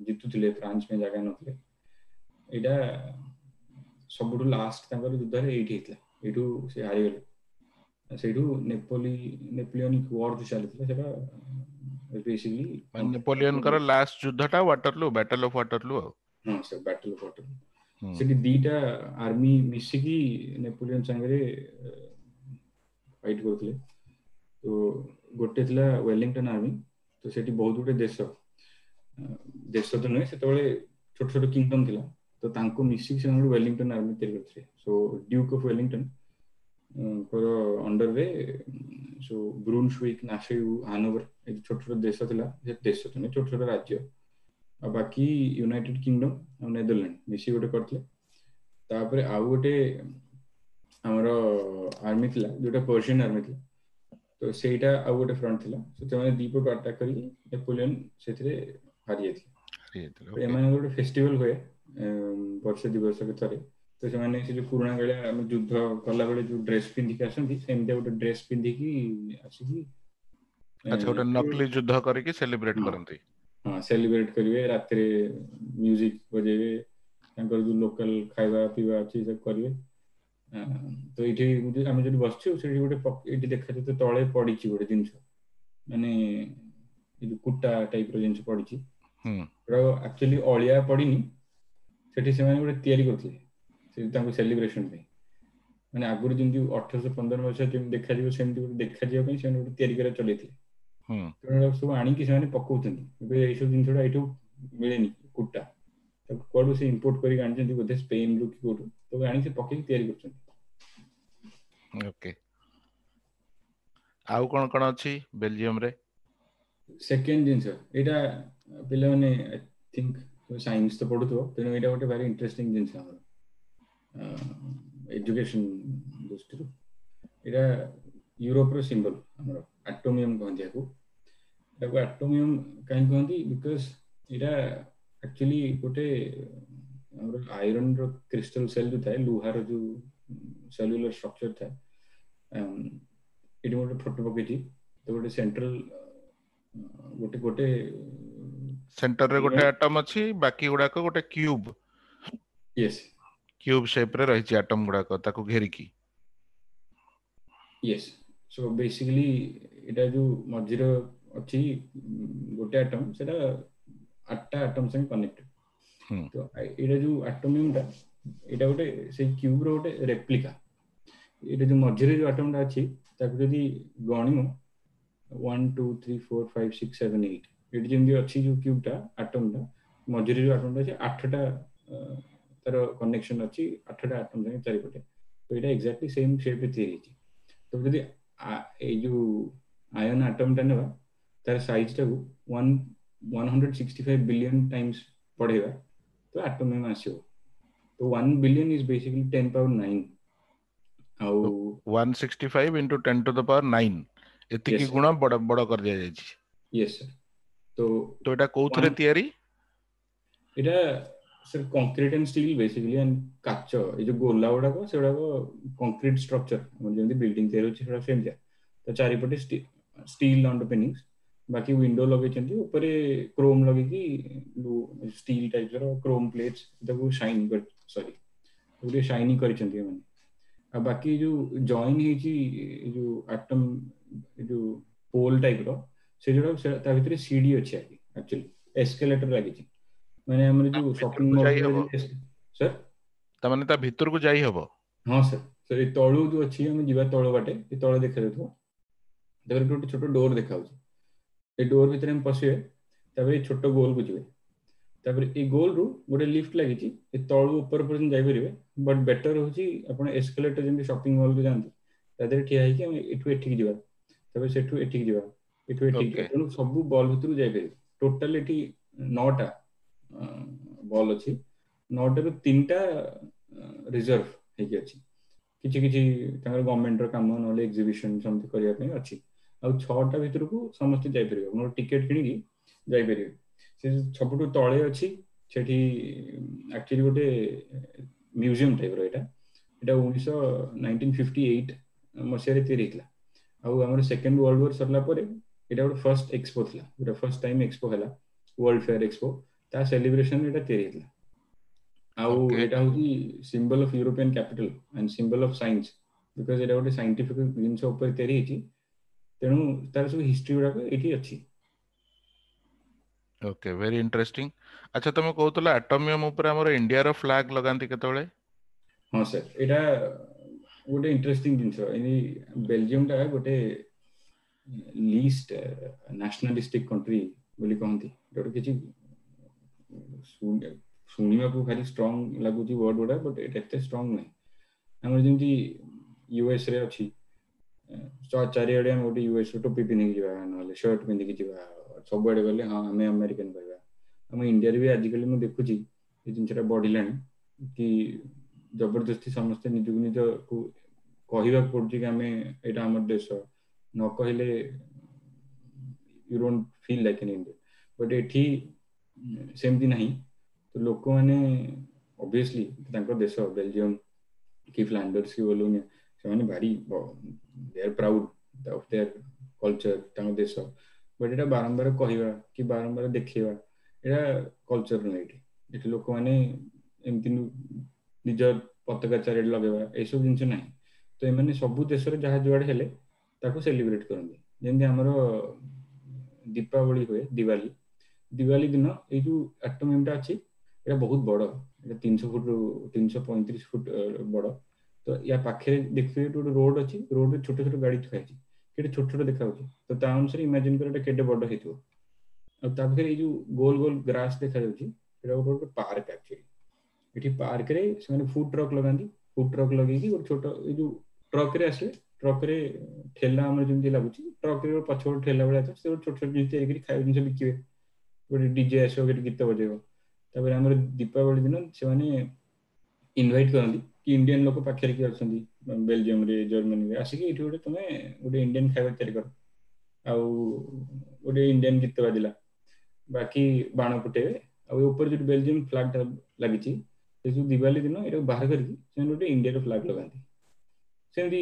ଜିତୁଥିଲେ, ଫ୍ରାନ୍ସ ପାଇଁ ଜାଗା ନଥିଲେ। ଏଇଟା ସବୁଠୁ ଲାଷ୍ଟ ତାଙ୍କର ଯୁଦ୍ଧରେ ଏଇଠି ହେଇଥିଲା, ଏଇଠୁ ସେ ହାରିଗଲେ। ସେଇଠୁ ନେପୋଲିୟନିକ ୱାର ଯୋଉ ଚାଲିଥିଲା ସେଟା ବେସିକଲି ନେପୋଲିୟନଙ୍କର ଲାଷ୍ଟ ଯୁଦ୍ଧଟା ୱାଟରଲୁ, ବ୍ୟାଟଲ ଅଫ ୱାଟରଲୁ। ଆଉ ହଁ ସେ ବ୍ୟାଟଲ ଅଫ ୱାଟରଲୁ, ସେଠି ଦିଟା ଆର୍ମି ମିଶିକି ନେପୋଲିୟନ ସାଙ୍ଗରେ ଫାଇଟ୍ କରୁଥିଲେ। ତ ଗୋଟେ ଥିଲା ୱେଲିଂଟନ ଆର୍ମି, ତ ସେଠି ବହୁତ ଗୋଟେ ଦେଶ, ଦେଶ ତ ନୁହେଁ ସେତେବେଳେ ଛୋଟ ଛୋଟ କିଙ୍ଗଡମ ଥିଲା, ତ ତାଙ୍କୁ ମିଶିକି ସେମାନେ ଗୋଟେ ୱେଲିଂଟନ ଆର୍ମି ତିଆରି କରିଥିଲେ। ସୋ ଡ୍ୟୁକ୍ ଅଫ ୱେଲିଂଟନ ଙ୍କର ଅଣ୍ଡରରେ ସୋ ବ୍ରୁନ୍ସୱିକ୍, ନାସେଉ, ହାନୋଭର, ଏ ଛୋଟ ଛୋଟ ଦେଶ ଥିଲା, ସେ ଦେଶ ତ ନୁହେଁ ଛୋଟ ଛୋଟ ରାଜ୍ୟ, ଆଉ ବାକି ୟୁନାଇଟେଡ କିଙ୍ଗଡମ ଆଉ ନେଦରଲ୍ୟାଣ୍ଡ ମିଶିକି ଗୋଟେ କରିଥିଲେ। ତାପରେ ଆଉ ଗୋଟେ ଆମର ଆର୍ମି ଥିଲା ଯୋଉଟା ପର୍ସିଆନ ଆର୍ମି ଥିଲା, ତ ସେଇଟା ଆଉ ଗୋଟେ ଫ୍ରଣ୍ଟ ଥିଲା। ସେମାନେ ଦି ପଟୁ ଆଟାକ୍ କରିକି ନେପୋଲିୟନ ସେଥିରେ ହାରି ଯାଇଥିଲେ। ଏମାନଙ୍କର ଗୋଟେ ଫେଷ୍ଟିଭାଲ ହୁଏ ବର୍ଷେ 2 ବର୍ଷକୁ ଥରେ, ତ ସେମାନେ ସେ ଯୋଉ ପୁରୁଣା କାଳିଆ ଆମେ ଯୁଦ୍ଧ କଲାବେଳେ ଯୋଉ ଡ୍ରେସ ପିନ୍ଧିକି ଆସନ୍ତି, ସେମିତିଆ ଗୋଟେ ଡ୍ରେସ ପିନ୍ଧିକି ଆସିକି ଆଚ୍ଛା ଗୋଟେ ନକଲି ଯୁଦ୍ଧ କରିକି ସେଲିବ୍ରେଟ କରନ୍ତି। ହଁ, ସେଲିବ୍ରେଟ କରିବେ, ରାତିରେ ମ୍ୟୁଜିକ ବଜେଇବେ, ତାଙ୍କର ଯୋଉ ଲୋକାଲ ଖାଇବା ପିଇବା ଅଛି ସବୁ କରିବେ। ତ ଏଇଠି ଆମେ ଯୋଉଠି ବସିଛୁ ସେଠି ଗୋଟେ ଏଇଠି ଦେଖାଯାଉଛି ତଳେ ପଡିଛି ଗୋଟେ ଜିନିଷ, ମାନେ ଏ ଯୋଉ କୁଟା ଟାଇପ ର ଜିନିଷ ପଡିଛି, ଆକ୍ଚୁଆଲି ଅଳିଆ ପଡିନି, ସେଠି ସେମାନେ ଗୋଟେ ତିଆରି କରୁଥିଲେ ସେ ତାଙ୍କୁ ସେଲିବ୍ରେସନ ପାଇଁ। ମାନେ ଆଗରୁ ଯେମିତି 1815 ମସିହା ଯେମିତି ଦେଖାଯିବ ସେମିତି ଗୋଟେ ଦେଖାଯିବା ପାଇଁ ସେମାନେ ଗୋଟେ ତିଆରି କରିବା ଚଲେଇଥିଲେ। ତେଣୁ ସବୁ ଆଣିକି ସେମାନେ ପକଉଛନ୍ତି। ଏବେ ଏଇସବୁ ଜିନିଷଟା ଏଇଠୁ ମିଳେନି, କୁଟା ତାକୁ କୁଆଡୁ ସେ ଇମ୍ପୋର୍ଟ କରିକି ଆଣିଛନ୍ତି ବୋଧେ ସ୍ପେନରୁ କି କୋଉଠୁ, ତାକୁ ଆଣିକି ସେ ପକେଇକି ତିଆରି କରୁଛନ୍ତି। ଓକେ, ଆଉ କଣ କଣ ଅଛି ବେଲଜିୟମରେ? ସେକେଣ୍ଡ ଜିନିଷ ଏଇଟା ପିଲାମାନେ I think science ତ ପଢୁଥିବ, ତେଣୁ ଏଇଟା ଗୋଟେ ଭାରି ଇଣ୍ଟରେଷ୍ଟିଂ ଜିନିଷ ଆମର ଏଜୁକେସନ ଦୃଷ୍ଟିରୁ। ଏଇଟା ୟୁରୋପର ସିମ୍ବଲ, ଆମର ଆଟୋମିୟମ କହନ୍ତି ଏହାକୁ। ଏଟାକୁ ଆଟୋମିୟମ କାହିଁ କହନ୍ତି? Because ଏଇଟା ଆକ୍ଚୁଆଲି ଗୋଟେ ଆମର ଆଇରନର କ୍ରିଷ୍ଟାଲ ସେଲ୍ ଯୋଉ ଥାଏ, ଲୁହାର ଯୋଉ ସେଲୁଲାର ଷ୍ଟ୍ରକ୍ଚର ଥାଏ, ଏଠି ଗୋଟେ ଫଟୋ ପକେଇଛି। ତ ଗୋଟେ ସେଣ୍ଟ୍ରାଲ ଗୋଟେ ଗୋଟେ ସେଣ୍ଟରରେ ଗୋଟେ ଆଟମ ଅଛି, ବାକି ଗୁଡାକ ଗୋଟେ କ୍ୟୁବ, ୟେସ୍, କ୍ୟୁବ ସେପ ରେ ରହିଛି ଆଟମ ଗୁଡାକ ତାକୁ ଘେରିକି। ୟେସ୍, ସୋ ବେସିକାଲି ଏଇଟା ଯୋଉ ମଝିରେ ଅଛି ଗୋଟେ ଆଟମ୍, ସେଟା 8ଟା ଆଟମ୍ ସାଙ୍ଗେ କନେକ୍ଟେଡ। ତ ଏଇଟା ଯୋଉ ଆଟୋମିୟମଟା, ଏଇଟା ଗୋଟେ ସେଇ କ୍ୟୁବର ଗୋଟେ ରେପ୍ଲିକା। ଏଇଟା ଯୋଉ ମଝିରେ ଯୋଉ ଆଟମଟା ଅଛି, ତାକୁ ଯଦି ଗଣିବ 1 2 3 4 5 6 7 8, ଏଠି ଯେମିତି ଅଛି ଯୋଉ କ୍ୟୁବଟା, ଆଟମଟା ମଝିରେ ଯୋଉ ଆଟମଟା ଅଛି, 8ଟା ତାର କନେକ୍ସନ ଅଛି 8ଟା ଆଟମ ସାଙ୍ଗେ ଚାରିପଟେ। ତ ଏଇଟା ଏକ୍ଜାକ୍ଟଲି ସେମ୍ ସେପ୍ରେ ତିଆରି ହେଇଛି। ତ ଯଦି ଏଇ ଯୋଉ ଆୟନ ଆଟମଟା ନେବା, ତାର ସାଇଜଟାକୁ 165 billion times ବଢେଇବା ତ ଆଟୋମିୟମ ଆସିବ। ତ 1 billion is basically 10 power 9 ଆଉ 165 into 10 to the power 9 ଏତିକି ଗୁଣ ବଡ ବଡ କରିଦିଆଯାଇଛି। ୟେସ୍ ସାର୍, ତ ତ ଏଇଟା କୋଉଥିରେ ତିଆରି? ଏଇଟା sir concrete and steel basically and କାଚ। ଏଇ ଯୋଉ ଗୋଲା ଗୁଡାକ, ସେଗୁଡାକ କଂକ୍ରିଟ ଷ୍ଟ୍ରକ୍ଚର। ଆମର ଯେମିତି ବିଲ୍ଡିଂ ତିଆରି ହଉଛି, ସେଗୁଡା ସେମିତିଆ। ତ ଚାରିପଟେ ଷ୍ଟିଲ୍ ଅଣ୍ଡରପିନିଂସ, ବାକି ୱିଣ୍ଡୋ ଲଗେଇଛନ୍ତି, ଉପରେ କ୍ରୋମ ଲଗେଇକି ଷ୍ଟିଲ୍ ଟାଇପର କ୍ରୋମ ପ୍ଲେଟ୍ସ, ତାକୁ ସାଇନ୍ କରି, ସରି, ଟିକେ ସାଇନିଂ କରିଛନ୍ତି ଏମାନେ। ଆଉ ବାକି ଯୋଉ ଜଏନ୍ ହେଇଛି ଏଇ ଯୋଉ ଆଟମ, ଏ ଯୋଉ ପୋଲ ଟାଇପର, ସେ ଯୋଉଟା ତା ଭିତରେ ସିଡି ଅଛି, ଆକ୍ଚୁଆଲି ଏସ୍କେଲେଟର ଲାଗିଛି। ମାନେ ଆମର ଯୋଉ ସପିଂ ମଲ୍ ସାର୍। ତାମାନେ ତା ଭିତରକୁ ଯାଇ ହବ? ହଁ ସାର୍। ସାର୍, ଏଇ ତଳୁ ଯୋଉ ଅଛି, ଆମେ ଯିବା ତଳ ବାଟେ। ଏ ତଳେ ଦେଖାଯାଉଥିବ, ତାପରେ ଗୋଟେ ଛୋଟ ଡୋର ଦେଖାଯାଉଛି। ଏ ଡୋର ଭିତରେ ଆମେ ପଶିବେ, ତାପରେ ଏଇ ଛୋଟ ଗୋଲକୁ ଯିବେ। ତାପରେ ଏଇ ଗୋଲରୁ ଗୋଟେ ଲିଫ୍ଟ ଲାଗିଛି, ଏ ତଳୁ ଉପର ପର୍ଯ୍ୟନ୍ତ ଯାଇପାରିବେ। ବଟ୍ ବେଟର ହଉଛି ଆପଣ ଏସ୍କେଲେଟର, ଯେମିତି ସପିଂ ମଲକୁ ଯାଆନ୍ତି, ତା ଦେହରେ ଠିଆ ହେଇକି ଆମେ ଏଠୁ ଏଠିକି ଯିବା, ତାପରେ ସେଠୁ ଏଠିକି ଯିବା, ଏଠୁ ଏଠିକି ଯିବା। ତେଣୁ ସବୁ ବଲ୍ ଭିତରକୁ ଯାଇପାରିବେ। ଟୋଟାଲ ଏଠି 9ଟା ବଲ୍ ଅଛି। 9ଟାରୁ 3ଟା ରିଜର୍ଭ ହେଇକି ଅଛି, କିଛି କିଛି ତାଙ୍କର ଗଭର୍ଣ୍ଣମେଣ୍ଟର କାମ ନହେଲେ ଏକ୍ଜିବିସନ ସେମିତି କରିବା ପାଇଁ ଅଛି। ଆଉ 6ଟା ଭିତରକୁ ସମସ୍ତେ ଯାଇପାରିବେ, ଆପଣ ଟିକେଟ କିଣିକି ଯାଇପାରିବେ। ସେ ସବୁଠୁ ତଳେ ଅଛି, ସେଠି ଆକ୍ଚୁଆଲି ଗୋଟେ ମ୍ୟୁଜିୟମ ଟାଇପର ଏଇଟା। ଏଇଟା 1958 ମସିହାରେ ତିଆରି ହେଇଥିଲା। ଆଉ ଆମର ସେକେଣ୍ଡ ୱାର୍ଲଡ ୱାର ସରିଲା ପରେ ଏଇଟା ଗୋଟେ ଫର୍ଷ୍ଟ ଏକ୍ସପୋ ଥିଲା, ଗୋଟେ ଫର୍ଷ୍ଟ ଟାଇମ ଏକ୍ସପୋ ହେଲା, ୱାର୍ଲଡ ଫେୟାର ଏକ୍ସପୋ, ତା ସେଲିବ୍ରେସନ ଏଇଟା ତିଆରି ହେଇଥିଲା। ଆଉ ଏଇଟା ହଉଛି symbol of European capital and symbol of science, because ଏଇଟା ଗୋଟେ ସାଇଣ୍ଟିଫିକ ଜିନିଷ ଉପରେ ତିଆରି ହେଇଛି। ତେଣୁ ତାର ସବୁ ହିଷ୍ଟ୍ରି ଗୁଡାକ ଏଇଠି ଅଛି। Okay, very interesting. ଆଚ୍ଛା, ତମେ କହୁଥିଲ ଆଟମିୟମ ଉପରେ ଆମର ଇଣ୍ଡିଆର ଫ୍ଲାଗ ଲଗାନ୍ତି କେତେବେଳେ? ହଁ ସାର୍, ଏଇଟା ଗୋଟେ ଇଣ୍ଟରେଷ୍ଟିଂ ଜିନିଷ। ଏଇ ବେଲଜିୟମଟା ଗୋଟେ ଲିଷ୍ଟ ନ୍ୟାସନାଲିଷ୍ଟିକ କଣ୍ଟ୍ରି ବୋଲି କହନ୍ତି। ଯୋଉଟା କିଛି ଶୁଣିବାକୁ ଭାରି ଷ୍ଟ୍ରଙ୍ଗ ଲାଗୁଛି ୱାର୍ଡ ଗୁଡା, ବଟ୍ ଏଇଟା ଏତେ ଷ୍ଟ୍ରଙ୍ଗ ନୁହେଁ। ଆମର ଯେମିତି ୟୁଏସ ରେ ଅଛି, ଚାରିଆଡେ ଆମେ ଗୋଟେ ୟୁଏସ ର ଟୋପି ପିନ୍ଧିକି ଯିବା, ନହେଲେ ସାର୍ଟ ପିନ୍ଧିକି ଯିବା, ସବୁଆଡେ ଗଲେ ହଁ ଆମେ ଆମେରିକାନ କହିବା। ଆମ ଇଣ୍ଡିଆରେ ବି ଆଜିକାଲି ମୁଁ ଦେଖୁଛି ଏ ଜିନିଷଟା ବଢିଲାଣି କି ଜବରଦସ୍ତି ସମସ୍ତେ ନିଜକୁ ନିଜକୁ କହିବାକୁ ପଡୁଛି କି ଆମେ ଏଇଟା ଆମର ଦେଶ। ନ କହିଲେ you don't feel like an Indian. But ଏଠି ସେମିତି ନାହିଁ। ତ ଲୋକମାନେ ଅବଭିୟସଲି ତାଙ୍କ ଦେଶ ବେଲଜିୟମ କି ଫ୍ଲାଣ୍ଡର୍ସ କି ୱାଲୋନିଆ, ସେମାନେ ଭାରି they are proud of their culture, ତାଙ୍କ ଦେଶ। ବଟ୍ ଏଇଟା ବାରମ୍ବାର କହିବା କି ବାରମ୍ବାର ଦେଖେଇବା, ଏଇଟା କଲଚର ନୁହେଁ ଏଠି। ଏଠି ଲୋକମାନେ ଏମିତି ନିଜ ପତାକା ଚାରିଆଡେ ଲଗେଇବା, ଏସବୁ ଜିନିଷ ନାହିଁ। ତ ଏମାନେ ସବୁ ଦେଶରେ ଯାହା ଯୁଆଡେ ହେଲେ ତାକୁ ସେଲିବ୍ରେଟ କରନ୍ତି। ଯେମିତି ଆମର ଦୀପାବଳି ହୁଏ, ଦିୱାଲି। ଦିୱାଲି ଦିନ ଏଇ ଯୋଉ ଆଟୋମିୟମଟା ଅଛି, ଏଇଟା ବହୁତ ବଡ। ଏଇଟା 300 ଫୁଟ, 335 ଫୁଟ ବଡ। ତ ୟା ପାଖରେ ଦେଖିଥିବେ ଗୋଟେ ରୋଡ ଅଛି, ରୋଡରେ ଛୋଟ ଛୋଟ ଗାଡି ଥୁଆ ହେଇଛି, କେତେ ଛୋଟ ଛୋଟ ଦେଖାଯାଉଛି। ତ ତା ଅନୁସାରେ ଇମାଜିନ କର ଏଟା କେତେ ବଡ ହେଇଥିବ। ଆଉ ତା ପାଖରେ ଏଇ ଯୋଉ ଗୋଲ ଗୋଲ ଗ୍ରାସ ଦେଖାଯାଉଛି, ସେଟା ଗୋଟେ ଗୋଟେ ପାର୍କ ଆକ୍ଚୁଆଲି। ଏଠି ପାର୍କରେ ସେମାନେ ଫୁଡ ଟ୍ରକ୍ ଲଗାନ୍ତି। ଫୁଡ ଟ୍ରକ୍ ଲଗେଇକି ଗୋଟେ ଛୋଟ ଏଇ ଯୋଉ ଟ୍ରକରେ ଆସିବେ, ଟ୍ରକରେ ଠେଲା, ଆମର ଯେମିତି ଲାଗୁଛି ଟ୍ରକରେ ପଛ ଗୋଟେ ଠେଲା ଭଳିଆ ଥିବ, ସେ ଗୋଟେ ଛୋଟ ଛୋଟ ଜିନିଷ ତିଆରି କରି ଖାଇବା ଜିନିଷ ବିକିବେ। ଗୋଟେ ଡିଜେ ଆସିବ, ଗୋଟେ ଗୀତ ବଜେଇବ। ତାପରେ ଆମର ଦୀପାବଳି ଦିନ ସେମାନେ ଇନଭାଇଟ କରନ୍ତି କି ଇଣ୍ଡିଆନ ଲୋକ ପାଖରେ କିଏ ଅଛନ୍ତି ବେଲଜିୟମରେ, ଜର୍ମାନୀରେ, ଆସିକି ଏଇଠି ଗୋଟେ ତମେ ଗୋଟେ ଇଣ୍ଡିଆନ ଖାଇବା ତିଆରି କର। ଆଉ ଗୋଟେ ଇଣ୍ଡିଆନ ଗୀତ ବାଜିଲା, ବାକି ବାଣ ଫୁଟେଇବେ। ଆଉ ଉପରେ ଯୋଉଠି ବେଲଜିୟମ ଫ୍ଲାଗ ଟା ଲାଗିଛି, ସେ ଯୋଉ ଦିୱାଲି ଦିନ ଏଟାକୁ ବାହାର କରିକି ସେମାନେ ଗୋଟେ ଇଣ୍ଡିଆର ଫ୍ଲାଗ ଲଗାନ୍ତି। ସେମିତି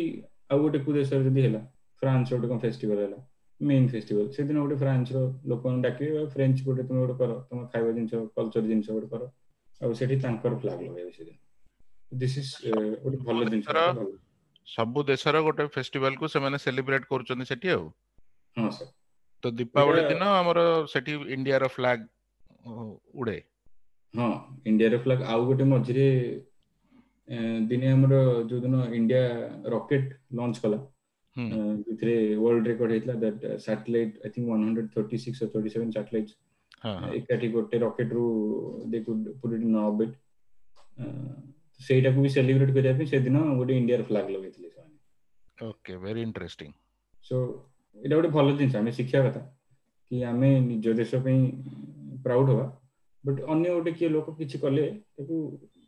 ଆଉ ଗୋଟେ କୋଉ ଦେଶରେ ଯଦି ହେଲା, ଫ୍ରାନ୍ସ ଗୋଟେ କଣ ଫେଷ୍ଟିଭାଲ ହେଲା, ମେନ୍ ଫେଷ୍ଟିଭାଲ, ସେଦିନ ଗୋଟେ ଫ୍ରାନ୍ସର ଲୋକମାନଙ୍କୁ ଡାକିବେ, ଫ୍ରେଞ୍ଚ ଗୋଟେ ତୁମେ ଗୋଟେ କର, ତମ ଖାଇବା ଜିନିଷ, କଲଚର ଜିନିଷ ଗୋଟେ କର, ଆଉ ସେଠି ତାଙ୍କର ଫ୍ଲାଗ ଲଗାଇବେ ସେଦିନ। This is ଗୋଟେ ଭଲ ଜିନିଷ। ସବୁ ଦେଶର ଗୋଟେ ଫେଷ୍ଟିଭାଲ କୁ ସେମାନେ ସେଲିବ୍ରେଟ କରୁଛନ୍ତି ସେଠି ଆଉ। ହଁ ସାର୍। ତ ଦୀପାବଳି ଦିନ ଆମର ସେଠି ଇଣ୍ଡିଆର ଫ୍ଲାଗ ଉଡେ। ହଁ, ଇଣ୍ଡିଆର ଫ୍ଲାଗ। ଆଉ ଗୋଟେ ମଝିରେ ଦିନେ ଆମର ଯୋଉଦିନ ଇଣ୍ଡିଆ ରକେଟ ଲଞ୍ଚ କଲା, ଯୋଉଥିରେ ୱାର୍ଲଡ ରେକର୍ଡ ହେଇଥିଲା, that satellite I think 136 or 37 satellites ଏକାଠି ଗୋଟେ ରକେଟ ରୁ they could put it in orbit। ସେଇଟାକୁ ବି ସେଲିବ୍ରେଟ କରିବା ପାଇଁ ସେଦିନ ଗୋଟେ ଇଣ୍ଡିଆର ଫ୍ଲାଗ ଲଗେଇଥିଲେ ସେମାନେ। Okay, very interesting. Show ଏଇଟା ଗୋଟେ ଭଲ ଜିନିଷ, ଆମେ ଶିଖିବା କଥା କି ଆମେ ନିଜ ଦେଶ ପାଇଁ ପ୍ରାଉଡ ହବା, ବଟ୍ ଅନ୍ୟ ଗୋଟେ କିଏ ଲୋକ କିଛି କଲେ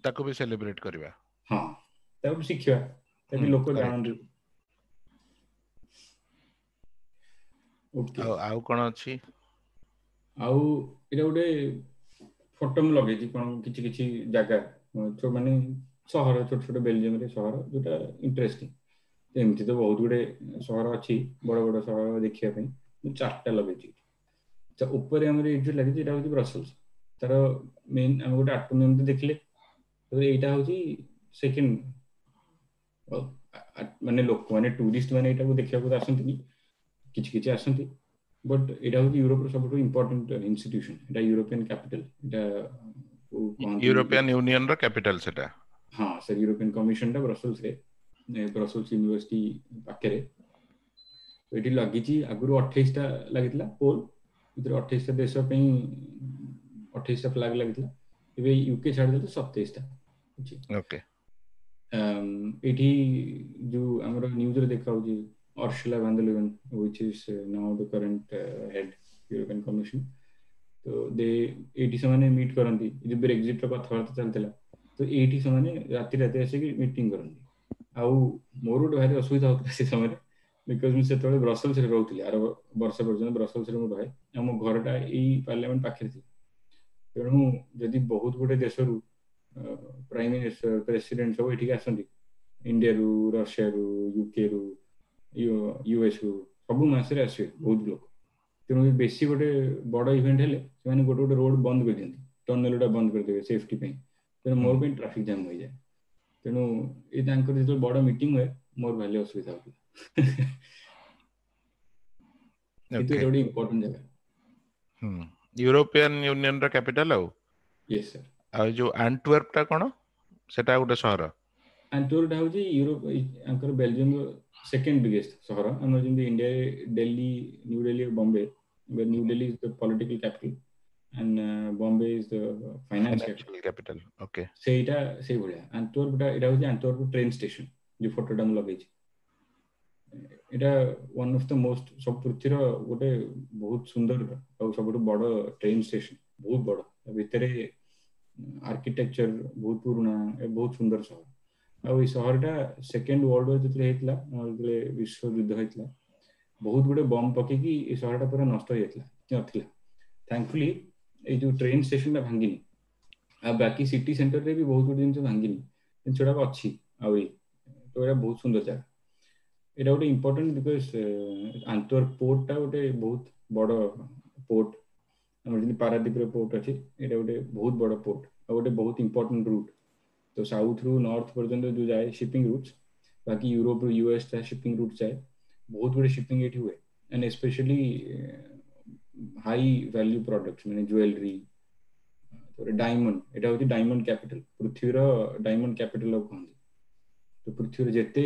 ତାକୁ ବି ସେଲିବ୍ରେଟ କରିବା। ହଁ, ତାକୁ ଶିଖିବା, ତାକୁ ଲୋକ ଜାଣନ୍ତୁ। ଓକେ, ଆଉ କଣ ଅଛି? ଆଉ ଏଇଟା ଗୋଟେ ଫଟୋ ମୁଁ ଲଗେଇଛି, କଣ କିଛି କିଛି ଜାଗା ମାନେ ସହର, ଛୋଟ ଛୋଟ ବେଲଜିୟମରେ ସହର ଯୋଉଟା ଇଣ୍ଟରେଷ୍ଟିଂ। ଏମିତି ତ ବହୁତ ଗୁଡେ ସହର ଅଛି, ବଡ ବଡ ସହର ଦେଖିବା ପାଇଁ। ମୁଁ 4ଟା ଲଗେଇଛି। ଉପରେ ଆମର ଏଇଠି ଯୋଉ ଲାଗିଛି ଏଇଟା ହଉଛି ବ୍ରସେଲ୍ସ, ତାର ମେନ୍ ଆମେ ଗୋଟେ ଆଟୋମିୟମ ତ ଦେଖିଲେ। ତାପରେ ଏଇଟା ହଉଛି ସେକେଣ୍ଡ, ମାନେ ଲୋକମାନେ ଟୁରିଷ୍ଟ ମାନେ ଏଇଟାକୁ ଦେଖିବାକୁ ଆସନ୍ତିନି, କିଛି କିଛି ଆସନ୍ତି, ବଟ୍ ଏଇଟା ହଉଛି ୟୁରୋପର ସବୁଠୁ ଇମ୍ପୋର୍ଟାଣ୍ଟ ଇନଷ୍ଟିଟ୍ୟୁସନ। ଏଇଟା ୟୁରୋପିଆନ କ୍ୟାପିଟାଲ, ଏଇଟା ୟୁରୋପିଆନ ୟୁନିୟନ ର କ୍ୟାପିଟାଲ ସେଟା। ହଁ ସାର୍, ୟୁରୋପିଆନ କମିଶନଟା ବ୍ରସେଲ୍ସରେ, ବ୍ରସେଲ୍ସ ୟୁନିଭର୍ସିଟି ପାଖରେ। ଏଠି ଲାଗିଛି, ଆଗରୁ 28ଟା ଲାଗିଥିଲା ପୋଲ, ଏଥିରେ 28ଟା ଦେଶ ପାଇଁ 28ଟା ଫ୍ଲାଗ ଲାଗିଥିଲା। ଏବେ ୟୁକେ ଛାଡ଼ିଦେଲେ 27ଟା ଅଛି। ଓକେ, ଏଇଠି ଯୋଉ ଆମର ନ୍ୟୁଜରେ ଦେଖାହଉଛି Ursula von der Leyen, which is now the current head European Commission, ତ ଦେ ଏଇଠି ସେମାନେ ମିଟ୍ କରନ୍ତି। ଯୋଉ ବ୍ରେକ୍ଜିଟ୍ର କଥାବାର୍ତ୍ତା ଚାଲିଥିଲା, ତ ଏଇଠି ସେମାନେ ରାତି ରାତି ଆସିକି ମିଟିଂ କରନ୍ତି। ଆଉ ମୋର ଗୋଟେ ଭାରି ଅସୁବିଧା ହଉଥିଲା ସେ ସମୟରେ, because ମୁଁ ସେତେବେଳେ ବ୍ରସେଲ୍ସରେ ରହୁଥିଲି, ଆର ବର୍ଷ ପର୍ଯ୍ୟନ୍ତ ବ୍ରସେଲ୍ସରେ ମୁଁ ରହେ, ଆଉ ମୋ ଘରଟା ଏଇ ପାର୍ଲାମେଣ୍ଟ ପାଖରେ ଥିଲା। ତେଣୁ ଯଦି ବହୁତ ଗୋଟେ ଦେଶରୁ ପ୍ରାଇମ ମିନିଷ୍ଟର, ପ୍ରେସିଡେଣ୍ଟ ସବୁ ଏଠିକି ଆସନ୍ତି, ଇଣ୍ଡିଆରୁ, ରଷିଆରୁ, ୟୁକେରୁ, ୟୁଏସ୍ ରୁ, ସବୁ ମାସରେ ଆସିବେ ବହୁତ ଲୋକ। ତେଣୁ ବେଶୀ ଗୋଟେ ବଡ ଇଭେଣ୍ଟ ହେଲେ ସେମାନେ ଗୋଟେ ଗୋଟେ ରୋଡ ବନ୍ଦ କରିଦିଅନ୍ତି, ଟନେଲ ଗୁଡା ବନ୍ଦ କରିଦେବେ ସେଫ୍ଟି ପାଇଁ। ତେଣୁ ମୋର ପାଇଁ ଟ୍ରାଫିକ ଜାମ୍ ହୋଇଯାଏ। ତେଣୁ ଏ ତାଙ୍କର ଯେତେବେଳେ ବଡ ମିଟିଂ ହୁଏ ମୋର ଭାରି ଅସୁବିଧା ହଉଥିଲା। କିନ୍ତୁ ଏଇଟା ଗୋଟେ ଇମ୍ପୋର୍ଟାଣ୍ଟ ଜାଗା, ୟୁରୋପିଆନ ୟୁନିୟନ ର କ୍ୟାପିଟାଲ। ଆଉ ୟେସ୍ ସାର୍। ଆଉ ଯୋଉ ଆଣ୍ଟୱେର୍ପ ଟା କଣ? ସେଟା ଗୋଟେ ସହର। ଆଣ୍ଟୱେର୍ପ ହଉଛି ୟୁରୋପ, ଆଙ୍କର ବେଲଜିୟମର ସେକେଣ୍ଡ ବିଗେଷ୍ଟ ସହର। ଆମର ଯେମିତି ଇଣ୍ଡିଆରେ Delhi, New Delhi, Bombay. New Delhi is the political capital and Bombay is the financial capital. Okay, ସେଇଟା ସେଇଭଳିଆ ଆଣ୍ଟୱେର୍ପଟା। ଏଇଟା ହଉଛି ଆଣ୍ଟୱେର୍ପ ଟ୍ରେନ୍ ଷ୍ଟେସନ, ଯୋଉ ଫଟୋଟା ମୁଁ ଲଗେଇଛି। ଏଇଟା ୱାନ୍ ଅଫ୍ the most, ସବୁ ପୃଥିବୀର ଗୋଟେ ବହୁତ ସୁନ୍ଦର ଆଉ ସବୁଠୁ ବଡ ଟ୍ରେନ୍ ଷ୍ଟେସନ, ବହୁତ ବଡ। ତା ଭିତରେ ଆର୍କିଟେକ୍ଚର ବହୁତ ପୁରୁଣା, ବହୁତ ସୁନ୍ଦର ସହର। ଆଉ ଏଇ ସହରଟା ସେକେଣ୍ଡ ୱାର୍ଲଡ ୱାର ଯେତେବେଳେ ହେଇଥିଲା, ଯେତେବେଳେ ବିଶ୍ୱଯୁଦ୍ଧ ହେଇଥିଲା, ବହୁତ ଗୁଡେ ବମ୍ ପକେଇକି ଏ ସହରଟା ପୁରା ନଷ୍ଟ ହେଇଯାଇଥିଲା, ନଥିଲା। ଥ୍ୟାଙ୍କଫୁଲି ଏଇ ଯୋଉ ଟ୍ରେନ୍ ଷ୍ଟେସନଟା ଭାଙ୍ଗିନି, ଆଉ ବାକି ସିଟି ସେଣ୍ଟରରେ ବି ବହୁତ ଗୁଡେ ଜିନିଷ ଭାଙ୍ଗିନି, ଜିନିଷ ଗୁଡାକ ଅଛି ଆହୁରି। ତ ଏଇଟା ବହୁତ ସୁନ୍ଦର ଜାଗା। ଏଇଟା ଗୋଟେ ଇମ୍ପୋର୍ଟାଣ୍ଟ because ଆଣ୍ଟୱେର୍ପ ପୋର୍ଟଟା ଗୋଟେ ବହୁତ ବଡ ପୋର୍ଟ। ଆମର ଯେମିତି ପାରାଦୀପରେ ପୋର୍ଟ ଅଛି, ଏଇଟା ଗୋଟେ ବହୁତ ବଡ ପୋର୍ଟ ଆଉ ଗୋଟେ ବହୁତ ଇମ୍ପୋର୍ଟାଣ୍ଟ ରୁଟ୍। ତ ସାଉଥରୁ ନର୍ଥ ପର୍ଯ୍ୟନ୍ତ ଯୋଉ ଯାଏ ସିପିଂ ରୁଟ୍ସ, ବାକି ୟୁରୋପରୁ ୟୁଏସ୍ ଯାଏ ସିପିଂ ରୁଟ୍ ଯାଏ, ବହୁତ ଗୁଡେ ସିପିଂ ଏଠି ହୁଏ। And especially high value products, ମାନେ ଜୁଏଲାରୀ, ତାପରେ ଡାଇମଣ୍ଡ। ଏଇଟା ହଉଛି ଡାଇମଣ୍ଡ କ୍ୟାପିଟାଲ, ପୃଥିବୀର ଡାଇମଣ୍ଡ କ୍ୟାପିଟାଲ କୁହନ୍ତି। ତ ପୃଥିବୀର ଯେତେ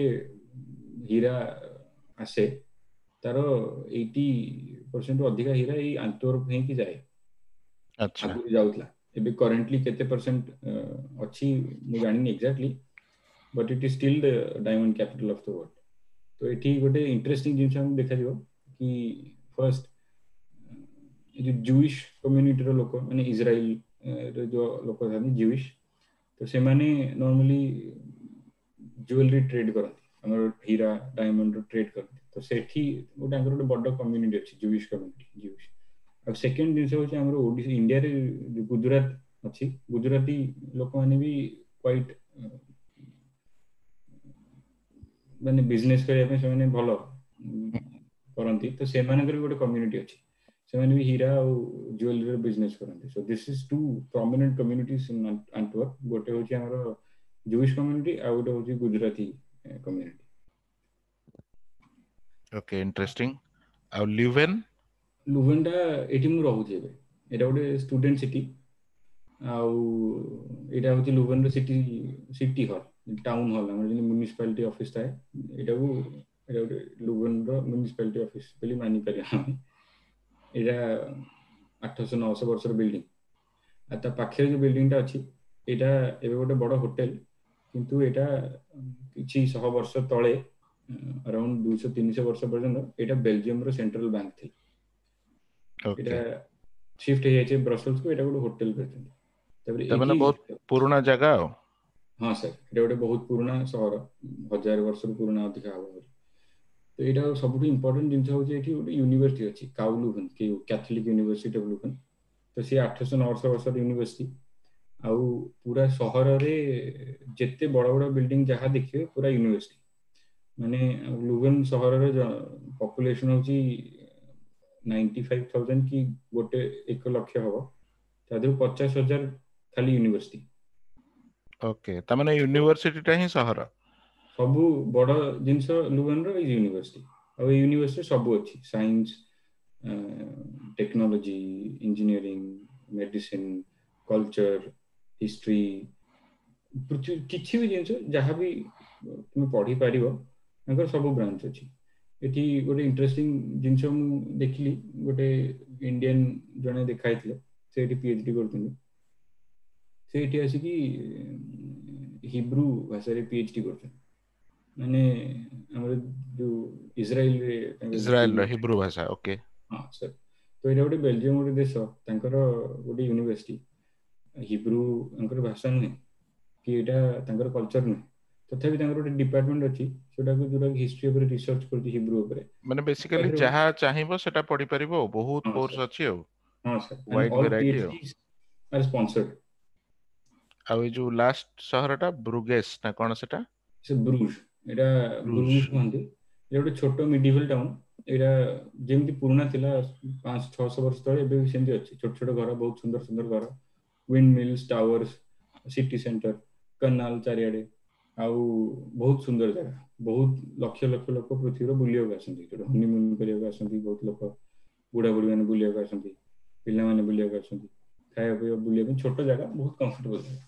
ହୀରା ଆସେ ତାର 80% ଅଧିକା ହୀରା ଏଇ ଆଣ୍ଟୱେର୍ପ ହେଇକି ଯାଏ, ଆଗରୁ ଯାଉଥିଲା। ଏବେ କରେଣ୍ଟଲି କେତେ ପରସେଣ୍ଟ ଅଛି ମୁଁ ଜାଣିନି exactly, but it is still the diamond capital of the world. ତ ଏଠି ଗୋଟେ ଇଣ୍ଟରେଷ୍ଟିଂ ଜିନିଷ ଆମକୁ ଦେଖାଯିବ କି ଫାର୍ଷ୍ଟ ଏ ଯୋଉ ଜୁଇଶ କମ୍ୟୁନିଟିର ଲୋକ, ମାନେ ଇସ୍ରାଏଲ ଯୋଉ ଲୋକ ଥାନ୍ତି ଜୁଇଶ, ତ ସେମାନେ ନର୍ମାଲି ଜୁଏଲାରୀ ଟ୍ରେଡ୍ କରନ୍ତି, ଆମର ହୀରା ଡାଇମଣ୍ଡ ଟ୍ରେଡ୍ କରନ୍ତି। ତ ସେଠି ଗୋଟେ ତାଙ୍କର ଗୋଟେ ବଡ କମ୍ୟୁନିଟି ଅଛି, ଜୁଇଶ କମ୍ୟୁନିଟି, ଜୁଇଶ। ଆଉ ସେକେଣ୍ଡ ଜିନିଷ ହଉଛି ଆମର ଓଡ଼ିଶା, ଇଣ୍ଡିଆରେ ଗୁଜୁରାଟ ଅଛି, ଗୁଜୁରାଟୀ ଲୋକମାନେ ବି କ୍ୱାଇଟ୍ ମାନେ ବିଜନେସ କରିବା ପାଇଁ ସେମାନେ ଭଲ କରନ୍ତି। ତ ସେମାନଙ୍କର ବି ଗୋଟେ କମ୍ୟୁନିଟି ଅଛି, ସେମାନେ ବି ହୀରା ଆଉ ଜୁଏଲାରୀର ବିଜନେସ କରନ୍ତି। So this is two prominent communities in Antwerp. ଗୋଟେ ହଉଛି ଆମର ଜୁଇଶ କମ୍ୟୁନିଟି ଆଉ ଗୋଟେ ହଉଛି ଗୁଜୁରାତି କମ୍ୟୁନିଟି। Okay, interesting. ଆଉ ଲ୍ୟୁଭେନ୍? ଲୁଭେନଟା ଏଇଠି ମୁଁ ରହୁଛି ଏବେ। ଏଇଟା ଗୋଟେ ଷ୍ଟୁଡେଣ୍ଟ ସିଟି, ଆଉ ଏଇଟା ହଉଛି ଲୁଭେନର city, city hall, town hall. ଆମର ଯେମିତି ମ୍ୟୁନିସିପାଲିଟି ଅଫିସ ଥାଏ, ଏଇଟାକୁ ଏଇଟା ଗୋଟେ ଲୁଭେନର ମ୍ୟୁନିସିପାଲିଟି ଅଫିସ ବୋଲି ମାନିପାରିବା ଆମେ। ଏଇଟା 800-900 ବର୍ଷର ବିଲ୍ଡିଂ। ଆଉ ତା ପାଖରେ ଯୋଉ ବିଲ୍ଡିଂଟା ଅଛି, ଏଇଟା ଏବେ ଗୋଟେ ବଡ ହୋଟେଲ, କିନ୍ତୁ ଏଇଟା କିଛି ଶହ ବର୍ଷ ତଳେ, ଆରାଉଣ୍ଡ 200-300 ବର୍ଷ ପର୍ଯ୍ୟନ୍ତ ଏଇଟା ବେଲଜିୟମର ସେଣ୍ଟ୍ରାଲ ବ୍ୟାଙ୍କ ଥିଲା। ଏଇଟା ସିଫ୍ଟ ହେଇଯାଇଛି ବ୍ରସେଲ୍ସକୁ, ଏଇଟା ଗୋଟେ ହୋଟେଲ କରିଛନ୍ତି। ତାପରେ ତାମାନେ ବହୁତ ପୁରୁଣା ଜାଗା ଆଉ। ହଁ ସାର୍, ଏଇଟା ଗୋଟେ ବହୁତ ପୁରୁଣା ସହର, 1000 ବର୍ଷରୁ ପୁରୁଣା ଅଧିକା ହବ ବୋଲି। ତ ଏଇଟା ସବୁଠୁ ଇମ୍ପୋର୍ଟାଣ୍ଟ ଜିନିଷ ହଉଛି ଏଠି ଗୋଟେ ୟୁନିଭର୍ସିଟି ଅଛି, କାଉ ଲୁଭେନ୍, କ୍ୟାଥୋଲିକ ୟୁନିଭର୍ସିଟି ଅଫ ଲୁଭେନ୍। ତ ସିଏ 800-900 ବର୍ଷର ୟୁନିଭର୍ସିଟି। ଆଉ ପୁରା ସହରରେ ଯେତେ ବଡ ବଡ ବିଲ୍ଡିଂ ଯାହା ଦେଖିବେ, ପୁରା ୟୁନିଭର୍ସିଟି। ମାନେ ଲୁଭେନ୍ ସହରର ପପୁଲେସନ ହଉଛି 95,000 କି ଗୋଟେ 1 ଲକ୍ଷ ହବ, ତା ଦେହରୁ 50,000 ଖାଲି ୟୁନିଭର୍ସିଟି। ଓକେ, ତାମାନେ ୟୁନିଭର୍ସିଟିଟା ହିଁ ସହର। ସବୁ ବଡ ଜିନିଷ ଲୁଭେନର ୟୁନିଭର୍ସିଟି। ଆଉ ଏଇ ୟୁନିଭର୍ସିଟି ସବୁ ଅଛି, science, technology, engineering, medicine, culture, history, ପୃଥିବୀ କିଛି ବି ଜିନିଷ ଯାହା ବି ତୁମେ ପଢିପାରିବ, ତାଙ୍କର ସବୁ ବ୍ରାଞ୍ଚ ଅଛି। ଏଠି ଗୋଟେ ଇଣ୍ଟରେଷ୍ଟିଂ ଜିନିଷ ମୁଁ ଦେଖିଲି, ଗୋଟେ ଇଣ୍ଡିଆନ ଜଣେ ଦେଖା ହେଇଥିଲେ, ସେ ଏଠି ପିଏଚଡି କରୁଛନ୍ତି। ସେ ଏଠି ଆସିକି ହିବ୍ରୁ ଭାଷାରେ ପିଏଚଡି କରୁଛନ୍ତି, ମାନେ ଆମର ଯୋଉ ଇସ୍ରାଏଲରେ। ଇସ୍ରାଏଲର ହିବ୍ରୁ ଭାଷା, ଓକେ। ହଁ ସାର୍, ତ ଏଇଟା ଗୋଟେ ବେଲଜିୟମ ଗୋଟେ ଦେଶ, ତାଙ୍କର ଗୋଟେ ୟୁନିଭର୍ସିଟି, ହିବ୍ରୁ ତାଙ୍କର ଭାଷା ନୁହେଁ କି ଏଇଟା ତାଙ୍କର କଲଚର ନୁହେଁ, ତଥାପି ତାଙ୍କର ଗୋଟେ ଡିପାର୍ଟମେଣ୍ଟ ଅଛି ସେଟାକୁ ଯୋଉଟା ହିଷ୍ଟ୍ରି ଉପରେ ରିସର୍ଚ୍ଚ କରୁଛି ହିବ୍ରୁ ଉପରେ। ମାନେ ବେସିକାଲି ଯାହା ଚାହିଁବ ସେଟା ପଢିପାରିବ, ବହୁତ କୋର୍ସ ଅଛି ଆଉ। ହଁ ସାର୍। ୱାଇଡ ଭେରାଇଟି ଆଉ। ଆର୍ ସ୍ପନ୍ସର୍ଡ। ଆଉ ଏଇ ଯୋଉ ଲାଷ୍ଟ ସହରଟା ବ୍ରୁଗେସ୍ ନା କଣ ସେଟା? ସେ ବ୍ରୁଜ, ଏଇଟା ବ୍ରୁଜ କୁହନ୍ତି। ଏଇଟା ଗୋଟେ ଛୋଟ ମିଡିଭାଲ ଟାଉନ। ଏଇଟା ଯେମିତି ପୁରୁଣା ଥିଲା 500-600 ବର୍ଷ ତଳେ, ଏବେ ବି ସେମିତି ଅଛି। ଛୋଟ ଛୋଟ ଘର, ବହୁତ ସୁନ୍ଦର ସୁନ୍ଦର ଘର, wind mills, towers, city center, canal ଚାରିଆଡେ, ଆଉ ବହୁତ ସୁନ୍ଦର ଜାଗା। ବହୁତ ଲକ୍ଷ ଲକ୍ଷ ଲୋକ ପୃଥିବୀର ବୁଲିବାକୁ ଆସନ୍ତି, ଯୋଉଟା ହନିମୁନ କରିବାକୁ ଆସନ୍ତି। ବହୁତ ଲୋକ, ବୁଢା ବୁଢୀ ମାନେ ବୁଲିବାକୁ ଆସନ୍ତି, ପିଲାମାନେ ବୁଲିବାକୁ ଆସନ୍ତି, ଖାଇବା ପିଇବା ବୁଲିବା ପାଇଁ ଛୋଟ ଜାଗା, ବହୁତ କମ୍ଫର୍ଟେବଲ ଜାଗା।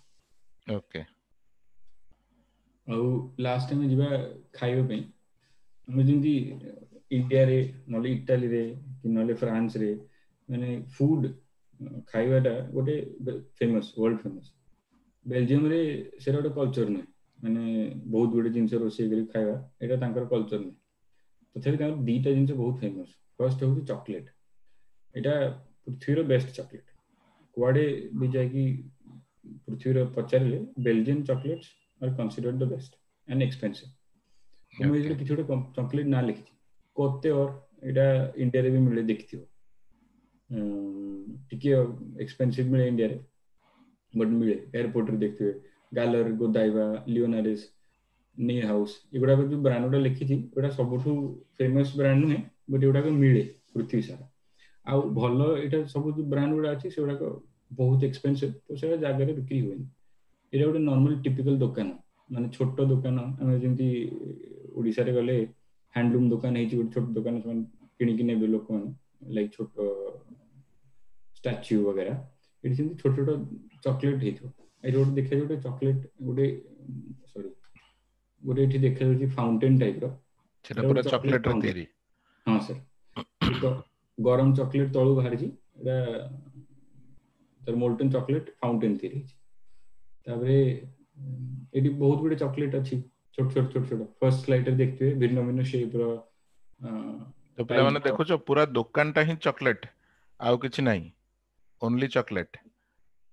ଆଉ ଲାଷ୍ଟ ଆମେ ଯିବା ଖାଇବା ପାଇଁ। ଆମେ ଯେମିତି ଇଣ୍ଡିଆରେ, ନହେଲେ ଇଟାଲୀରେ କି ନହେଲେ ଫ୍ରାନ୍ସରେ, ମାନେ ଫୁଡ ଖାଇବାଟା ଗୋଟେ ଫେମସ, ୱାର୍ଲଡ ଫେମସ। ବେଲଜିୟମରେ ସେଇଟା ଗୋଟେ କଲଚର ନୁହେଁ, ମାନେ ବହୁତ ଗୁଡେ ଜିନିଷ ରୋଷେଇ କରି ଖାଇବା, ଏଇଟା ତାଙ୍କର କଲଚର ନୁହେଁ। ତଥାପି ତାଙ୍କର ଦିଟା ଜିନିଷ ବହୁତ ଫେମସ। ଫାର୍ଷ୍ଟ ହଉଛି ଚକୋଲେଟ। ଏଇଟା ପୃଥିବୀର ବେଷ୍ଟ ଚକୋଲେଟ। କୁଆଡେ ବି ଯାଇକି ପୃଥିବୀର ପଚାରିଲେ, Belgian chocolates are considered the best and expensive. ମୁଁ ଏଇଠି କିଛି ଗୋଟେ ଚକୋଲେଟ ନାଁ ଲେଖିଛି, କୋତେ ଅର, ଏଇଟା ଇଣ୍ଡିଆରେ ବି ମିଳେ, ଦେଖିଥିବ। ଟିକେ ଏକ୍ସପେନ୍ସିଭ ମିଳେ ଇଣ୍ଡିଆରେ, ବଟ୍ ମିଳେ। ଏୟାରପୋର୍ଟରେ ଦେଖିଥିବେ, ଗାଲର, ଗୋଦାଇବା, ଲିଓନାରିସ୍, ନେ ହାଉସ୍, ଏଗୁଡାକ ଯୋଉ ବ୍ରାଣ୍ଡ ଗୁଡା ଲେଖିଛି, ଏଗୁଡା ସବୁଠୁ ଫେମସ ବ୍ରାଣ୍ଡ ନୁହେଁ, ବଟ୍ ଏଗୁଡାକ ମିଳେ ପୃଥିବୀ ସାରା। ଆଉ ଭଲ ଏଇଟା ସବୁ ଯୋଉ ବ୍ରାଣ୍ଡ ଗୁଡା ଅଛି, ସେଗୁଡାକ ବହୁତ ଏକ୍ସପେନ୍ସିଭ, ତ ସେଟା ଜାଗାରେ ବିକ୍ରି ହୁଏନି। ଏଇଟା ଗୋଟେ ନର୍ମାଲ ଟିପିକାଲ ଦୋକାନ, ମାନେ ଛୋଟ ଦୋକାନ। ଆମେ ଯେମିତି ଓଡିଶାରେ ଗଲେ ହ୍ୟାଣ୍ଡଲୁମ୍ ଦୋକାନ ହେଇଛି, ଗୋଟେ ଛୋଟ ଦୋକାନ, ସେମାନେ କିଣିକି ନେବେ ଲୋକମାନେ, ଲାଇକ୍ ଛୋଟ ଷ୍ଟାଚ୍ୟୁ ବଗେରା। ଏଠି ସେମିତି ଛୋଟ ଛୋଟ ଚକୋଲେଟ ହେଇଥିବ। ଏଠି ଗୋଟେ ଦେଖାଯାଉଛି ଗୋଟେ ଚକୋଲେଟ, ଗୋଟେ ସରି, ଗୋଟେ ଏଠି ଦେଖାଯାଉଛି ଫାଉଣ୍ଟେନ ଟାଇପ ର। ସେଟା ପୁରା ଚକୋଲେଟ ରେ ତିଆରି? ହଁ ସାର୍, ଗରମ ଚକୋଲେଟ ତଳୁ ବାହାରିଛି। ଏଟା ତାର ମୋଲ୍ଟନ ଚକୋଲେଟ ଫାଉଣ୍ଟେନ ତିଆରି ହେଇଛି। ତାପରେ ଏଠି ବହୁତ ଗୁଡେ ଚକୋଲେଟ ଅଛି, ଛୋଟ ଛୋଟ ଛୋଟ ଛୋଟ। ଫର୍ଷ୍ଟ ସ୍ଲାଇଡରେ ଦେଖିଥିବେ ଭିନ୍ନ ଭିନ୍ନ ସେପ ର। ତ ପିଲାମାନେ ଦେଖୁଛ, ପୁରା ଦୋକାନଟା ହିଁ ଚକୋଲେଟ, ଆଉ କିଛି ନାହିଁ, ଓନ୍ଲି ଚକୋଲେଟ।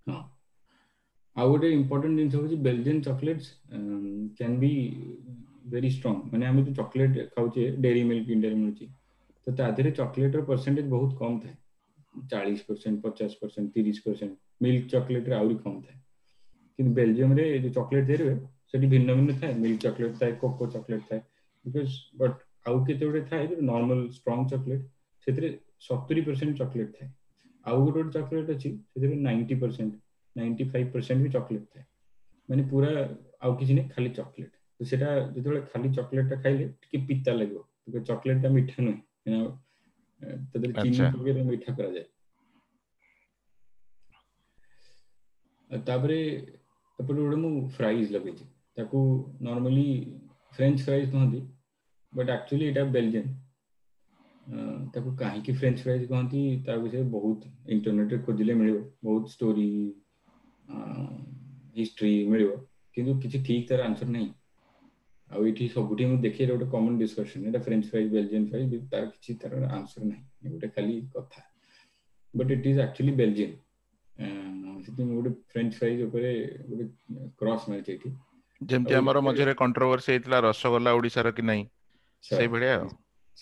ହଁ, ଆଉ ଗୋଟେ ଇମ୍ପୋର୍ଟାଣ୍ଟ ଜିନିଷ ହଉଛି Belgian chocolates can be very strong. ମାନେ ଆମେ ଯୋଉ ଚକୋଲେଟ ଖାଉଛେ, ଡେରି ମିଲ୍କ ଇଣ୍ଡିଆରେ ମିଳୁଛି, ତ ତା ଦେହରେ ଚକୋଲେଟର ପରସେଣ୍ଟେଜ ବହୁତ କମ ଥାଏ, 40%, 50%, 30%। ମିଲ୍କ ଚକୋଲେଟରେ ଆହୁରି କମ ଥାଏ। କିନ୍ତୁ ବେଲଜିୟମରେ ଯୋଉ ଚକୋଲେଟ ତିଆରି ହୁଏ, ସେଠି ଭିନ୍ନ ଭିନ୍ନ ଥାଏ। ମିଲ୍କ ଚକୋଲେଟ ଥାଏ, କୋକୋ ଚକୋଲେଟ ଥାଏ, because but ଆଉ କେତେ ଗୁଡେ ଥାଏ ଯୋଉ ନର୍ମାଲ ଷ୍ଟ୍ରଙ୍ଗ ଚକୋଲେଟ, ସେଥିରେ 70% ଚକୋଲେଟ ଥାଏ। ଆଉ ଗୋଟେ ଗୋଟେ ଚକୋଲେଟ ଅଛି, ସେଥିରେ 90%, 95% ବି ଚକୋଲେଟ ଥାଏ। ମାନେ ପୁରା ଆଉ କିଛି ନାହିଁ, ଖାଲି ଚକୋଲେଟ। ତ ସେଟା ଯେତେବେଳେ ଖାଲି ଚକୋଲେଟଟା ଖାଇଲେ ଟିକେ ପିତା ଲାଗିବ। ଚକୋଲେଟଟା ମିଠା ନୁହେଁ, ତା ଦେହରେ ଚିନି ପକେଇ ମିଠା କରାଯାଏ। ତାପରେ ଏପଟେ ଗୋଟେ ମୁଁ ଫ୍ରାଇଜ୍ ଲଗେଇଛି, ତାକୁ ନର୍ମାଲି ଫ୍ରେଞ୍ଚ ଫ୍ରାଇଜ୍ କହନ୍ତି, ବଟ୍ ଆକ୍ଚୁଆଲି ଏଇଟା ବେଲଜିୟନ। ତାକୁ କାହିଁକି ଫ୍ରେଞ୍ଚ ଫ୍ରାଇଜ୍ କହନ୍ତି ତା ବିଷୟରେ ବହୁତ ଇଣ୍ଟରନେଟରେ ଖୋଜିଲେ ମିଳିବ, ବହୁତ ଷ୍ଟୋରି ହିଷ୍ଟ୍ରି ମିଳିବ, କିନ୍ତୁ କିଛି ଠିକ୍ ତାର ଆନ୍ସର ନାହିଁ। ଆଉ ଏଇଠି ସବୁଠି ମୁଁ ଦେଖେ ଗୋଟେ କମନ ଡିସ୍କସନ, ଏଇଟା ଫ୍ରେଞ୍ଚ ଫ୍ରାଇଜ୍ ବେଲଜିୟନ ଫ୍ରାଇଜ୍, ତାର କିଛି ତାର ଆନ୍ସର ନାହିଁ, ଗୋଟେ ଖାଲି କଥା। But it is actually Belgian. ସେଥିପାଇଁ ମୁଁ ଗୋଟେ ଫ୍ରେଞ୍ଚ ଫ୍ରାଇଜ୍ ଉପରେ ଗୋଟେ କ୍ରସ୍ ମାରିଛି ଏଇଠି। ଯେମିତି ଆମର ମଝିରେ କଣ୍ଟ୍ରୋଭର୍ସି ହେଇଥିଲା ରସଗୋଲା ଓଡିଶାର କି ନାହିଁ, ସେଇଭଳିଆ ଆଉ।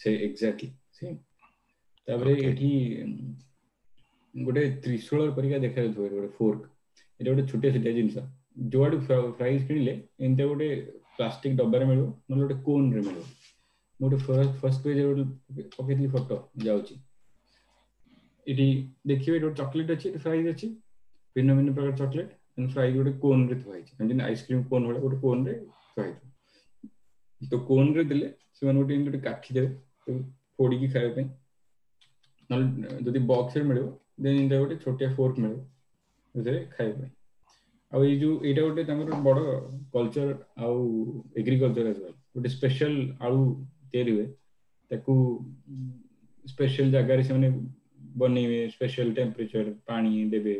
ସେ ଏକ୍ଜାକ୍ଟଲି ସେମ୍। ତାପରେ ଏଠି ଗୋଟେ ତ୍ରିଶୂଳ ପରିକା ଦେଖାଯାଉଥିବ ଗୋଟେ ଫୋର୍କ, ଏଇଟା ଗୋଟେ ଛୋଟିଆ ଛୋଟିଆ ଜିନିଷ। ଯୁଆଡୁ ଫ୍ରାଇଜ୍ କିଣିଲେ ଏମିତି ଗୋଟେ ପ୍ଲାଷ୍ଟିକ ଡବାରେ ମିଳିବ, ନହେଲେ ଗୋଟେ କୋନରେ ମିଳିବ। ମୁଁ ଗୋଟେ ଫାର୍ଷ୍ଟ ପେଜରେ ଗୋଟେ ପକେଇଥିଲି ଫଟୋ, ଯାଉଛି ଏଠି ଦେଖିବେ, ଏଠି ଗୋଟେ ଚକୋଲେଟ ଅଛି, ଏଠି ଫ୍ରାଇଜ୍ ଅଛି, ଭିନ୍ନ ଭିନ୍ନ ପ୍ରକାର ଚକୋଲେଟ, ଫ୍ରାଇଜ୍ ଗୋଟେ କୋନରେ ଥୁଆ ହେଇଛି, ଯେମିତି ଆଇସ୍କ୍ରିମ କୋନ୍ ଭଳିଆ ଗୋଟେ କୋନରେ ଥୁଆ ହେଇଥିବ। ତ କୋନରେ ଦେଲେ ସେମାନେ ଗୋଟେ ଏମିତି ଗୋଟେ କାଠି ଦେବେ ଫୋଡ଼ିକି ଖାଇବା ପାଇଁ, ନହେଲେ ଯଦି ବକ୍ସରେ ମିଳିବ ଦେନ୍ ଏମିତି ଗୋଟେ ଛୋଟିଆ ଫୋର୍କ ମିଳିବ ସେଥିରେ ଖାଇବା ପାଇଁ। ଆଉ ଏଇ ଯୋଉ ଏଇଟା ଗୋଟେ ତାଙ୍କର ବଡ କଲଚର ଆଉ ଏଗ୍ରିକଲଚର ଆଜ ୱେଲ୍। ଗୋଟେ ସ୍ପେଶାଲ ଆଳୁ ତିଆରି ହୁଏ, ତାକୁ ସ୍ପେଶାଲ ଜାଗାରେ ସେମାନେ ବନେଇବେ, ସ୍ପେଶାଲ ଟେମ୍ପରେଚର ପାଣି ଦେବେ,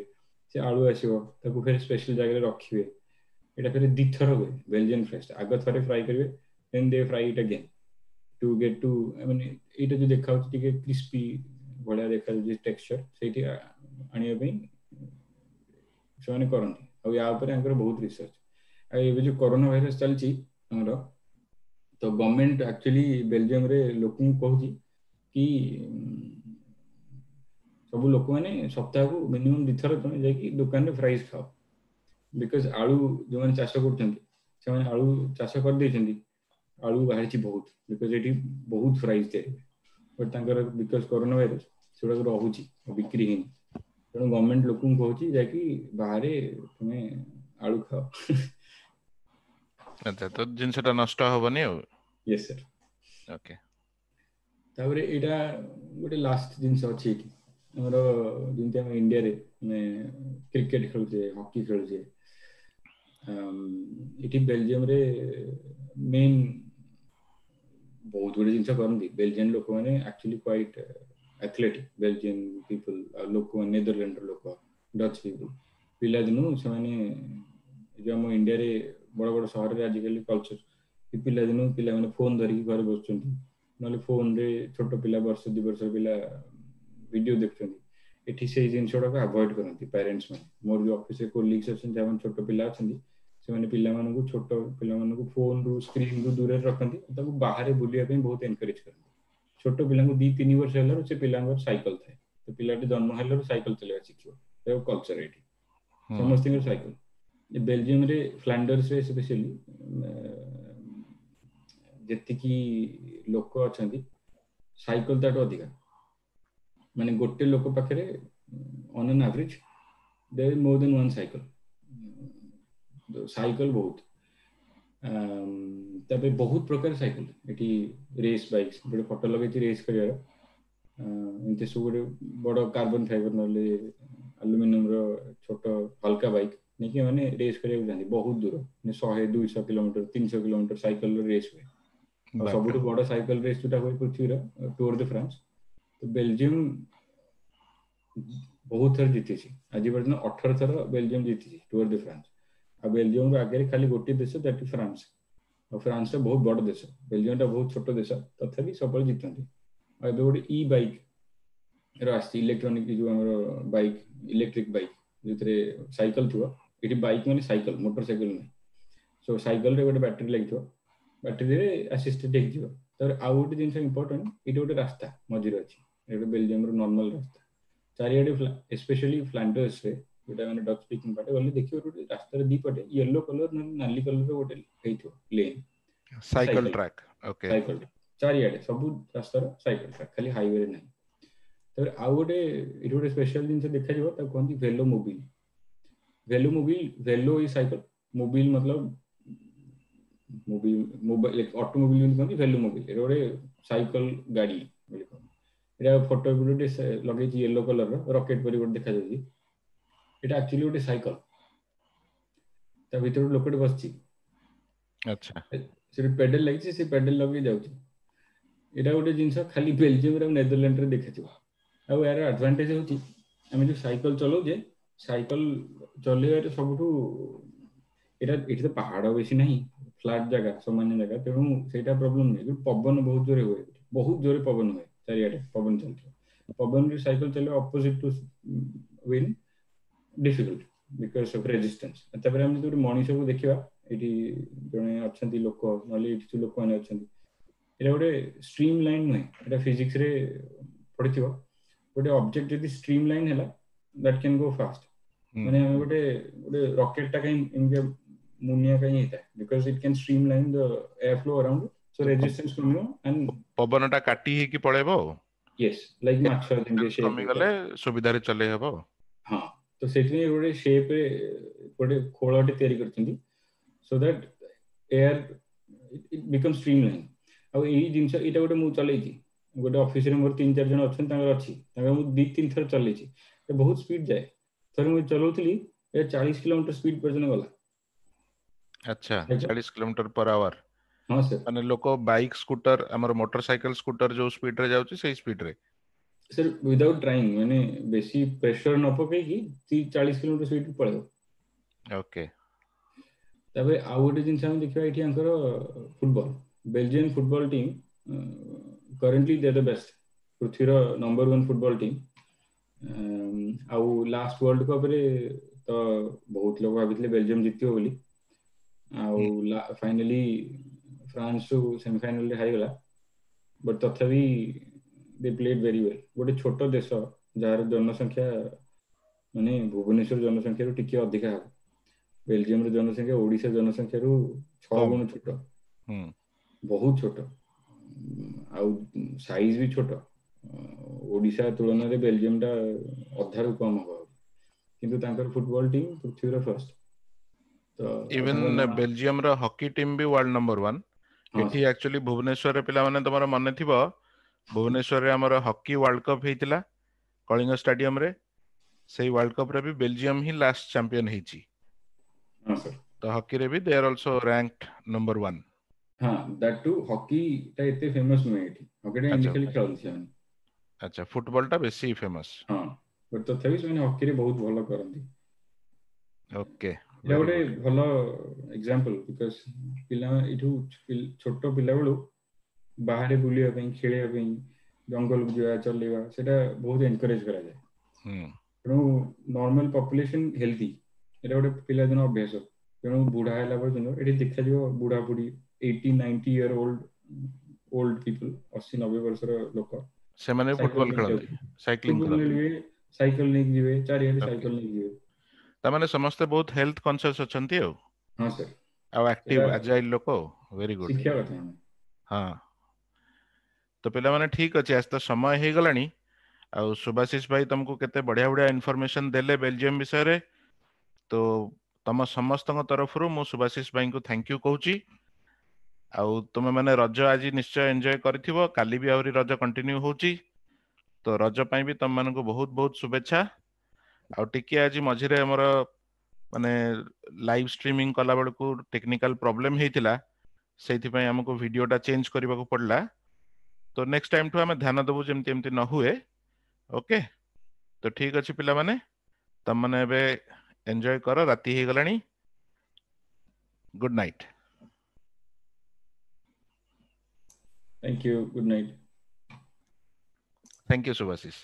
ସେ ଆଳୁ ଆସିବ, ତାକୁ ଫେର ସ୍ପେଶାଲ ଜାଗାରେ ରଖିବେ। ଏଇଟା ଫେର ଦିଥର ହୁଏ ବେଲଜିୟନ ଫ୍ରାଇଜ, ଆଗ ଥରେ ଫ୍ରାଏ କରିବେ, then they fry it again to get to, ମାନେ ଏଇଟା ଯୋଉ ଦେଖାଯାଉଛି ଟିକେ କ୍ରିସ୍ପି ଭଳିଆ ଦେଖାଯାଉଛି ଟେକ୍ସଚର, ସେଇଠି ଆଣିବା ପାଇଁ ସେମାନେ କରନ୍ତି। ଆଉ ୟା ଉପରେ ଆଙ୍କର ବହୁତ ରିସର୍ଚ୍ଚ। ଆଉ ଏବେ ଯୋଉ କରୋନା ଭାଇରସ ଚାଲିଛି ଆମର, ତ ଗଭର୍ଣ୍ଣମେଣ୍ଟ ଆକ୍ଚୁଆଲି ବେଲଜିୟମରେ ଲୋକଙ୍କୁ କହୁଛି କି ସବୁ ଲୋକମାନେ ସପ୍ତାହକୁ ମିନିମମ୍ 2 ଥର ତମେ ଯାଇକି ଦୋକାନରେ ଫ୍ରାଇଜ୍ ଖାଅ, because ଆଳୁ ଯୋଉମାନେ ଚାଷ କରୁଛନ୍ତି ସେମାନେ ଆଳୁ ଚାଷ କରିଦେଇଛନ୍ତି, ଆଳୁ ବାହାରିଛି ବହୁତ, because ଏଠି ବହୁତ ଫ୍ରାଇଜ୍ ତିଆରି ହୁଏ, ବଟ୍ ତାଙ୍କର because corona virus ସେଗୁଡ଼ାକ ରହୁଛି ଆଉ ବିକ୍ରି ହେଇନି। ତେଣୁ ଗଭର୍ଣ୍ଣମେଣ୍ଟ ଲୋକଙ୍କୁ କହୁଛି ଯାଇକି ବାହାରେ ତୁମେ ଆଳୁ ଖାଅ। ଆଚ୍ଛା, ତ ଜିନିଷଟା ନଷ୍ଟ ହବନି ଆଉ। Yes sir. Okay. ତାପରେ ଏଇଟା ଗୋଟେ ଲାଷ୍ଟ ଜିନିଷ ଅଛି ଏଇଠି ଆମର, ଯେମିତି ଆମ ଇଣ୍ଡିଆରେ ଆମେ କ୍ରିକେଟ ଖେଳୁଛେ, ହକି ଖେଳୁଛେ, ଏଠି ବେଲଜିୟମରେ ମେନ୍ ବହୁତ ଗୁଡେ ଜିନିଷ କରନ୍ତି। ବେଲଜିୟମ ଲୋକମାନେ actually quite athletic, Belgian people ଆଉ ଲୋକମାନେ, ନେଦରଲ୍ୟାଣ୍ଡର ଲୋକ, ଡଚ୍ ପିପୁଲ, ପିଲାଦିନୁ ସେମାନେ ଯୋଉ ଆମ ଇଣ୍ଡିଆରେ ବଡ ବଡ ସହରରେ ଆଜିକାଲି କଲଚର, ପିଲାଦିନୁ ପିଲାମାନେ ଫୋନ ଧରିକି ଘରେ ବସୁଛନ୍ତି, ନହେଲେ ଫୋନରେ ଛୋଟ ପିଲା ବର୍ଷ 2 ବର୍ଷର ପିଲା ଭିଡିଓ ଦେଖୁଛନ୍ତି। ଏଠି ସେଇ ଜିନିଷ ଗୁଡାକ ଆଭଏଡ କରନ୍ତି ପ୍ୟାରେଣ୍ଟସ ମାନେ। ମୋର ଯୋଉ ଅଫିସରେ କୋଲିଗ୍ସ ଅଛନ୍ତି, ଯେଉଁମାନେ ଛୋଟ ପିଲା ଅଛନ୍ତି, ସେମାନେ ପିଲାମାନଙ୍କୁ, ଛୋଟ ପିଲାମାନଙ୍କୁ ଫୋନରୁ ସ୍କ୍ରିନରୁ ଦୂରରେ ରଖନ୍ତି, ତାକୁ ବାହାରେ ବୁଲିବା ପାଇଁ ବହୁତ ଏନକରେଜ କରନ୍ତି। ଛୋଟ ପିଲାଙ୍କୁ 2-3 ବର୍ଷ ହେଲାରୁ ସେ ପିଲାଙ୍କର ସାଇକେଲ ଥାଏ, ତ ପିଲାଟି ଜନ୍ମ ହେଲାରୁ ସାଇକେଲ ଚଲେଇବା ଶିଖିବ। କଲଚର ଏଇଠି ସମସ୍ତଙ୍କର ସାଇକେଲ। ବେଲଜିୟମରେ ଫ୍ଲାଣ୍ଡର୍ସରେ ସ୍ପେଶିଆଲି ଯେତିକି ଲୋକ ଅଛନ୍ତି ସାଇକେଲ ତାଠୁ ଅଧିକା, ମାନେ ଗୋଟେ ଲୋକ ପାଖରେ on an average there is more than one cycle, cycle ବହୁତ। ତାପରେ ବହୁତ ପ୍ରକାର ସାଇକେଲ ଏଠି, ରେସ୍ ବାଇକ୍ସ, ଗୋଟେ ଫଟୋ ଲଗେଇଛି ରେସ୍ କରିବାର, ଏମିତି ସବୁ ଗୋଟେ ବଡ କାର୍ବନ ଫାଇବର ନହେଲେ ଆଲୁମିନିୟମର ଛୋଟ ହାଲକା ବାଇକ୍ ନେଇକି ମାନେ ରେସ୍ କରିବାକୁ ଯାଆନ୍ତି ବହୁତ ଦୂର, ମାନେ 100-200 କିଲୋମିଟର 300 କିଲୋମିଟର ସାଇକେଲର ରେସ୍ ହୁଏ। ଆଉ ସବୁଠୁ ବଡ ସାଇକେଲ ରେସ୍ ଯୋଉଟା ହୁଏ ପୃଥିବୀର, ଟୁର ଦେ ଫ୍ରାନ୍ସ, ତ ବେଲଜିୟମ ବହୁତ ଥର ଜିତିଛି, ଆଜି ପର୍ଯ୍ୟନ୍ତ 18 ଥର ବେଲଜିୟମ ଜିତିଛି ଟୁର ଦେ ଫ୍ରାନ୍ସ। ଆଉ ବେଲଜିୟମର ଆଗରେ ଖାଲି ଗୋଟିଏ ଦେଶ, that France. ଆଉ ଫ୍ରାନ୍ସଟା ବହୁତ ବଡ ଦେଶ, ବେଲଜିୟମଟା ବହୁତ ଛୋଟ ଦେଶ, ତଥାପି ସବୁବେଳେ ଜିତନ୍ତି। ଆଉ ଏବେ ଗୋଟେ ଇ ବାଇକ୍ ର ଆସିଛି, ଇଲେକ୍ଟ୍ରୋନିକ ଯୋଉ ଆମର ବାଇକ୍, ଇଲେକ୍ଟ୍ରିକ ବାଇକ୍, ଯୋଉଥିରେ ସାଇକେଲ ଥିବ। ଏଠି ବାଇକ୍ ମାନେ ସାଇକେଲ, ମୋଟର ସାଇକେଲ ନୁହେଁ। ସୋ ସାଇକେଲରେ ଗୋଟେ ବ୍ୟାଟେରୀ ଲାଗିଥିବ, ବ୍ୟାଟେରୀରେ ଆସିଷ୍ଟେଡ ହେଇଯିବ। ତାପରେ ଆଉ ଗୋଟେ ଜିନିଷ ଇମ୍ପୋର୍ଟାଣ୍ଟ, ଏଇଠି ଗୋଟେ ରାସ୍ତା ମଝିରେ ଅଛି, ଏଇଟା ବେଲଜିୟମର ନର୍ମାଲ ରାସ୍ତା, ଚାରିଆଡେ ଏସ୍ପେଶାଲି ଫ୍ଲାଣ୍ଡର୍ସରେ ଯୋଉଟା ମାନେ ଡଚ୍ ସ୍ପିକିଂ ପାର୍ଟ, ଗଲେ ଦେଖିବ ଗୋଟେ ରାସ୍ତାରେ ଦି ପଟେ ୟେଲୋ କଲର ନହେଲେ ନାଲି କଲର ଗୋଟେ ହେଇଥିବ lane, cycle track. Okay, cycle ଚାରିଆଡେ ସବୁ ରାସ୍ତାର ସାଇକେଲ ଟ୍ରାକ୍, ଖାଲି ହାଇୱେରେ ନାହିଁ। ତାପରେ ଆଉ ଗୋଟେ ଏଠି ଗୋଟେ ସ୍ପେଶାଲ ଜିନିଷ ଦେଖାଯିବ, ତାକୁ କୁହନ୍ତି Velho mobil. Velho mobil, Velho ଇ ସାଇକେଲ, ମୋବିଲ ମତଲବ ମୋବିଲ, ମୋବାଇଲ, ଅଟୋମୋବିଲ ଯେମିତି କୁହନ୍ତି, ଭେଲୋ ମୋବିଲ। ଏଇଟା ଗୋଟେ ସାଇକେଲ ଗାଡି ବୋଲି କହନ୍ତି। ଏଇଟା ଫଟୋ ଗୋଟେ ଲଗେଇଛି ୟେଲୋ କଲର ରକେଟ ପରି ଗୋଟେ ଦେଖାଯାଉଛି। ଏଇଟା ଆକ୍ଚୁଆଲି ଗୋଟେ ସାଇକେଲ, ତା ଭିତରେ ଗୋଟେ ଲୋକଟେ ବସିଛି। ଆଚ୍ଛା, ସେଠି ପେଡେଲ ଲାଗିଛି, ସେ ପେଡେଲ ଲଗେଇ ଯାଉଛି। ଏଇଟା ଗୋଟେ ଜିନିଷ ଖାଲି ବେଲଜିୟମରେ ଆଉ ନେଦରଲ୍ୟାଣ୍ଡରେ ଦେଖାଯିବ। ଆଉ ଏହାର ଆଡଭାଣ୍ଟେଜ ହଉଛି ଆମେ ଯୋଉ ସାଇକେଲ ଚଲାଉଛେ, ସାଇକେଲ ଚଲେଇବାରେ ସବୁଠୁ ଏଇଟା, ଏଠି ତ ପାହାଡ ବେଶୀ ନାହିଁ, ଫ୍ଲାଟ ଜାଗା, ସମାନ ଜାଗା, ତେଣୁ ସେଇଟା ପ୍ରୋବ୍ଲେମ ନୁହେଁ। କିନ୍ତୁ ପବନ ବହୁତ ଜୋରେ ହୁଏ, ବହୁତ ଜୋରେ ପବନ ହୁଏ, ଚାରିଆଡେ ପବନ ଚାଲିଥିବ। ପବନରେ ସାଇକେଲ ଚଲେଇବା opposite to wind difficult because of resistance. ତାପରେ ଆମେ ଯଦି ଗୋଟେ ମଣିଷକୁ ଦେଖିବା, ଏଇଠି ଜଣେ ଅଛନ୍ତି ଲୋକ, ନହେଲେ ଏଇଠି ଯୋଉ ଲୋକମାନେ ଅଛନ୍ତି, ଏଇଟା ଗୋଟେ ଷ୍ଟ୍ରିମ୍ ଲାଇନ୍ ନୁହେଁ, ଏଇଟା ଫିଜିକ୍ସରେ ପଢିଥିବ। ଗୋଟେ ଅବଜେକ୍ଟ ଯଦି ଷ୍ଟ୍ରିମ୍ ଲାଇନ୍ ହେଲା, that can go first. ମାନେ ଆମେ ଗୋଟେ ଗୋଟେ ରକେଟଟା କାହିଁ ଏମିତି ମୁନିଆ କାହିଁ ହେଇଥାଏ, because it can streamline the air flow around, so resistance କମିବ ଆଣ୍ଡ ପବନଟା କାଟି ହେଇକି ପଳେଇବ ଆଉ। ୟେସ୍, ଲାଇକ୍ ମାଛ ଯେମିତି shape କମିଗଲେ ସୁବିଧାରେ ଚଲେଇ ହବ। ହଁ, ତ ସେଥିପାଇଁ ଗୋଟେ ସେପରେ ଗୋଟେ ଖୋଳଟେ ତିଆରି କରିଛନ୍ତି, so that air it become streamline. ଆଉ ଏଇ ଜିନିଷ ଏଇଟା ଗୋଟେ ମୁଁ ଚଲେଇଛି, ଗୋଟେ ଅଫିସରେ ମୋର 3-4 ଜଣ ଅଛନ୍ତି, ତାଙ୍କର ଅଛି, ତାଙ୍କର ମୁଁ 2-3 ଥର ଚଲେଇଛି। ବହୁତ ସ୍ପିଡ ଯାଏ। ଥରେ ମୁଁ ଚଲାଉଥିଲି, 40 କିଲୋମିଟର ସ୍ପିଡ ପର୍ଯ୍ୟନ୍ତ ଗଲା। ଆଚ୍ଛା, 40 କିଲୋମିଟର ପର ଆୱାର। ହଁ ସାର୍। ମାନେ ଲୋକ ବାଇକ୍, ସ୍କୁଟର, ଆମର ମୋଟର ସାଇକେଲ, ସ୍କୁଟର ଯୋଉ ସ୍ପିଡରେ ଯାଉଛି ସେଇ ସ୍ପିଡରେ ସାର୍, ୱିଦାଉଟ୍ ଟ୍ରାଇଂ, ମାନେ ବେଶୀ ପ୍ରେସର ନ ପକେଇକି 40 କିଲୋମିଟର ସ୍ପିଡ ପଳେଇବ। ଓକେ। ତାପରେ ଆଉ ଗୋଟେ ଜିନିଷ ଆମେ ଦେଖିବା ଏଇଠି ୟାଙ୍କର football, Belgian football team currently they the best, ପୃଥିବୀର ନମ୍ବର 1 ଫୁଟବଲ ଟିମ୍। ଆଉ ଲାଷ୍ଟ ୱାର୍ଲଡ କପରେ ତ ବହୁତ ଲୋକ ଭାବିଥିଲେ ବେଲଜିୟମ ଜିତିବ ବୋଲି, ଆଉ ଫାଇନାଲି ଫ୍ରାନ୍ସ ସେମିଫାଇନାଲରେ ହାରିଗଲା, ବଟ୍ ତଥାପି ଦେ ପ୍ଲେଡ୍ ଭେରି ୱେଲ୍। ଗୋଟେ ଛୋଟ ଦେଶ ଯାହାର ଜନସଂଖ୍ୟା ମାନେ ଭୁବନେଶ୍ୱର ଜନସଂଖ୍ୟାରୁ ଟିକେ ଅଧିକା ହବ, ବେଲଜିୟମର ଜନସଂଖ୍ୟା ଓଡ଼ିଶା ଜନସଂଖ୍ୟାରୁ 6 ଗୁଣ ଛୋଟ, ବହୁତ ଛୋଟ, ଆଉ ସାଇଜ ବି ଛୋଟ। ଓଡ଼ିଶା ତୁଳନାରେ ବେଲଜିୟମଟା ଅଧାରୁ କମ ହବ, କିନ୍ତୁ ତାଙ୍କର ଫୁଟବଲ ଟିମ୍ ପୃଥିବୀର ଫାର୍ଷ୍ଟ। ତ ଇଭେନ ବେଲଜିୟମର ହକି ଟିମ୍ ବି ୱାର୍ଲଡ ନମ୍ବର 1। ଏଠି ଆକ୍ଚୁଆଲି ଭୁବନେଶ୍ୱରରେ ପିଲାମାନେ ତମର ମନେ ଥିବ, ଭୁବନେଶ୍ୱରରେ ଆମର ହକି ୱାର୍ଲଡ କପ୍ ହେଇଥିଲା କଳିଙ୍ଗ ଷ୍ଟାଡିୟମରେ। ସେଇ ୱାର୍ଲଡ କପରେ ବି ବେଲଜିୟମ ହିଁ ଲାଷ୍ଟ ଚାମ୍ପିୟନ ହେଇଛି। ତ ହକିରେ ବି they are also ranked number 1। ହଁ, that two ହକିଟା ଏତେ ଫେମସ ନୁହେଁ ଏଠି, ହକିଟା ଏମିତି ଖାଲି ଖେଳନ୍ତି ସେମାନେ। ଆଚ୍ଛା, ଫୁଟବଲଟା ବେଶୀ ଫେମସ। ହଁ, ବଟ୍ ତଥାପି ସେମାନେ ହକିରେ ବହୁତ ଭଲ କରନ୍ତି। ଓକେ, ଏଇଟା ଗୋଟେ ଭଲ ଏକ୍ସାମ୍ପଲ, because ପିଲା ଏଇଠୁ ଛୋଟ ପିଲାବେଳୁ ବାହାରେ ବୁଲିବା ପାଇଁ, ଖେଳିବା ପାଇଁ, ଜଙ୍ଗଲକୁ ଯିବା, ଚଲେଇବା, ସେଇଟା ବହୁତ ଏନକରେଜ କରାଯାଏ। ତେଣୁ ନର୍ମାଲ ପପୁଲେସନ ହେଲ୍ଦି, ଏଇଟା ଗୋଟେ ପିଲାଦିନ ଅଭ୍ୟାସ। ତେଣୁ ବୁଢା ହେଲା ପର୍ଯ୍ୟନ୍ତ ଏଠି ଦେଖାଯିବ ବୁଢା ବୁଢୀ 80-90 ଇୟର ଓଲ୍ଡ ପିପୁଲ, 80-90 ବର୍ଷର ଲୋକ, ସେମାନେ ଫୁଟବଲ ଖେଳନ୍ତି, ସାଇକ୍ଲିଂ କରନ୍ତି, ସାଇକେଲ ନେଇକି ଯିବେ, ଚାରିଆଡେ ସାଇକେଲ ନେଇକି ଯିବେ। ତାମାନେ ସମସ୍ତେ ବହୁତ ହେଲ୍ଥ କନସିୟସ୍ ଅଛନ୍ତି ଆଉ। ହଁ ସାର୍, ଆଉ ଆକ୍ଟିଭ ଆଜାଇଲ ଲୋକ। Very good, ଶିଖିବା କଥା। ହଁ, ତ ପିଲାମାନେ ଠିକ ଅଛି, ଆଜି ତ ସମୟ ହେଇଗଲାଣି। ଆଉ ସୁଭାଶିଷ ଭାଇ ତମକୁ କେତେ ବଢିଆ ବଢିଆ ଇନଫର୍ମେସନ ଦେଲେ ବେଲଜିୟମ ବିଷୟରେ। ତ ତମ ସମସ୍ତଙ୍କ ତରଫରୁ ମୁଁ ସୁଭାଶିଷ ଭାଇଙ୍କୁ thank you କହୁଛି। ଆଉ ତୁମେ ମାନେ ରଜ ଆଜି ନିଶ୍ଚୟ ଏନ୍ଜୟ କରିଥିବ, କାଲି ବି ଆହୁରି ରଜ କଣ୍ଟିନ୍ୟୁ ହଉଛି। ତ ରଜ ପାଇଁ ବି ତମମାନଙ୍କୁ ବହୁତ ବହୁତ ଶୁଭେଚ୍ଛା। ଆଉ ଟିକେ ଆଜି ମଝିରେ ଆମର ମାନେ ଲାଇଭ ଷ୍ଟ୍ରିମିଂ କଲା ବେଳକୁ ଟେକ୍ନିକାଲ ପ୍ରୋବ୍ଲେମ ହେଇଥିଲା, ସେଇଥିପାଇଁ ଆମକୁ ଭିଡିଓଟା ଚେଞ୍ଜ କରିବାକୁ ପଡିଲା। ତ ନେକ୍ସଟ ଟାଇମ ଠୁ ଆମେ ଧ୍ୟାନ ଦେବୁ ଯେମିତି ଏମିତି ନ ହୁଏ। ଓକେ, ତ ଠିକ ଅଛି ପିଲାମାନେ, ତମମାନେ ଏବେ ଏନ୍ଜୟ କର, ରାତି ହେଇଗଲାଣି। Good night. Thank you. Good night. Thank you, Subhasis.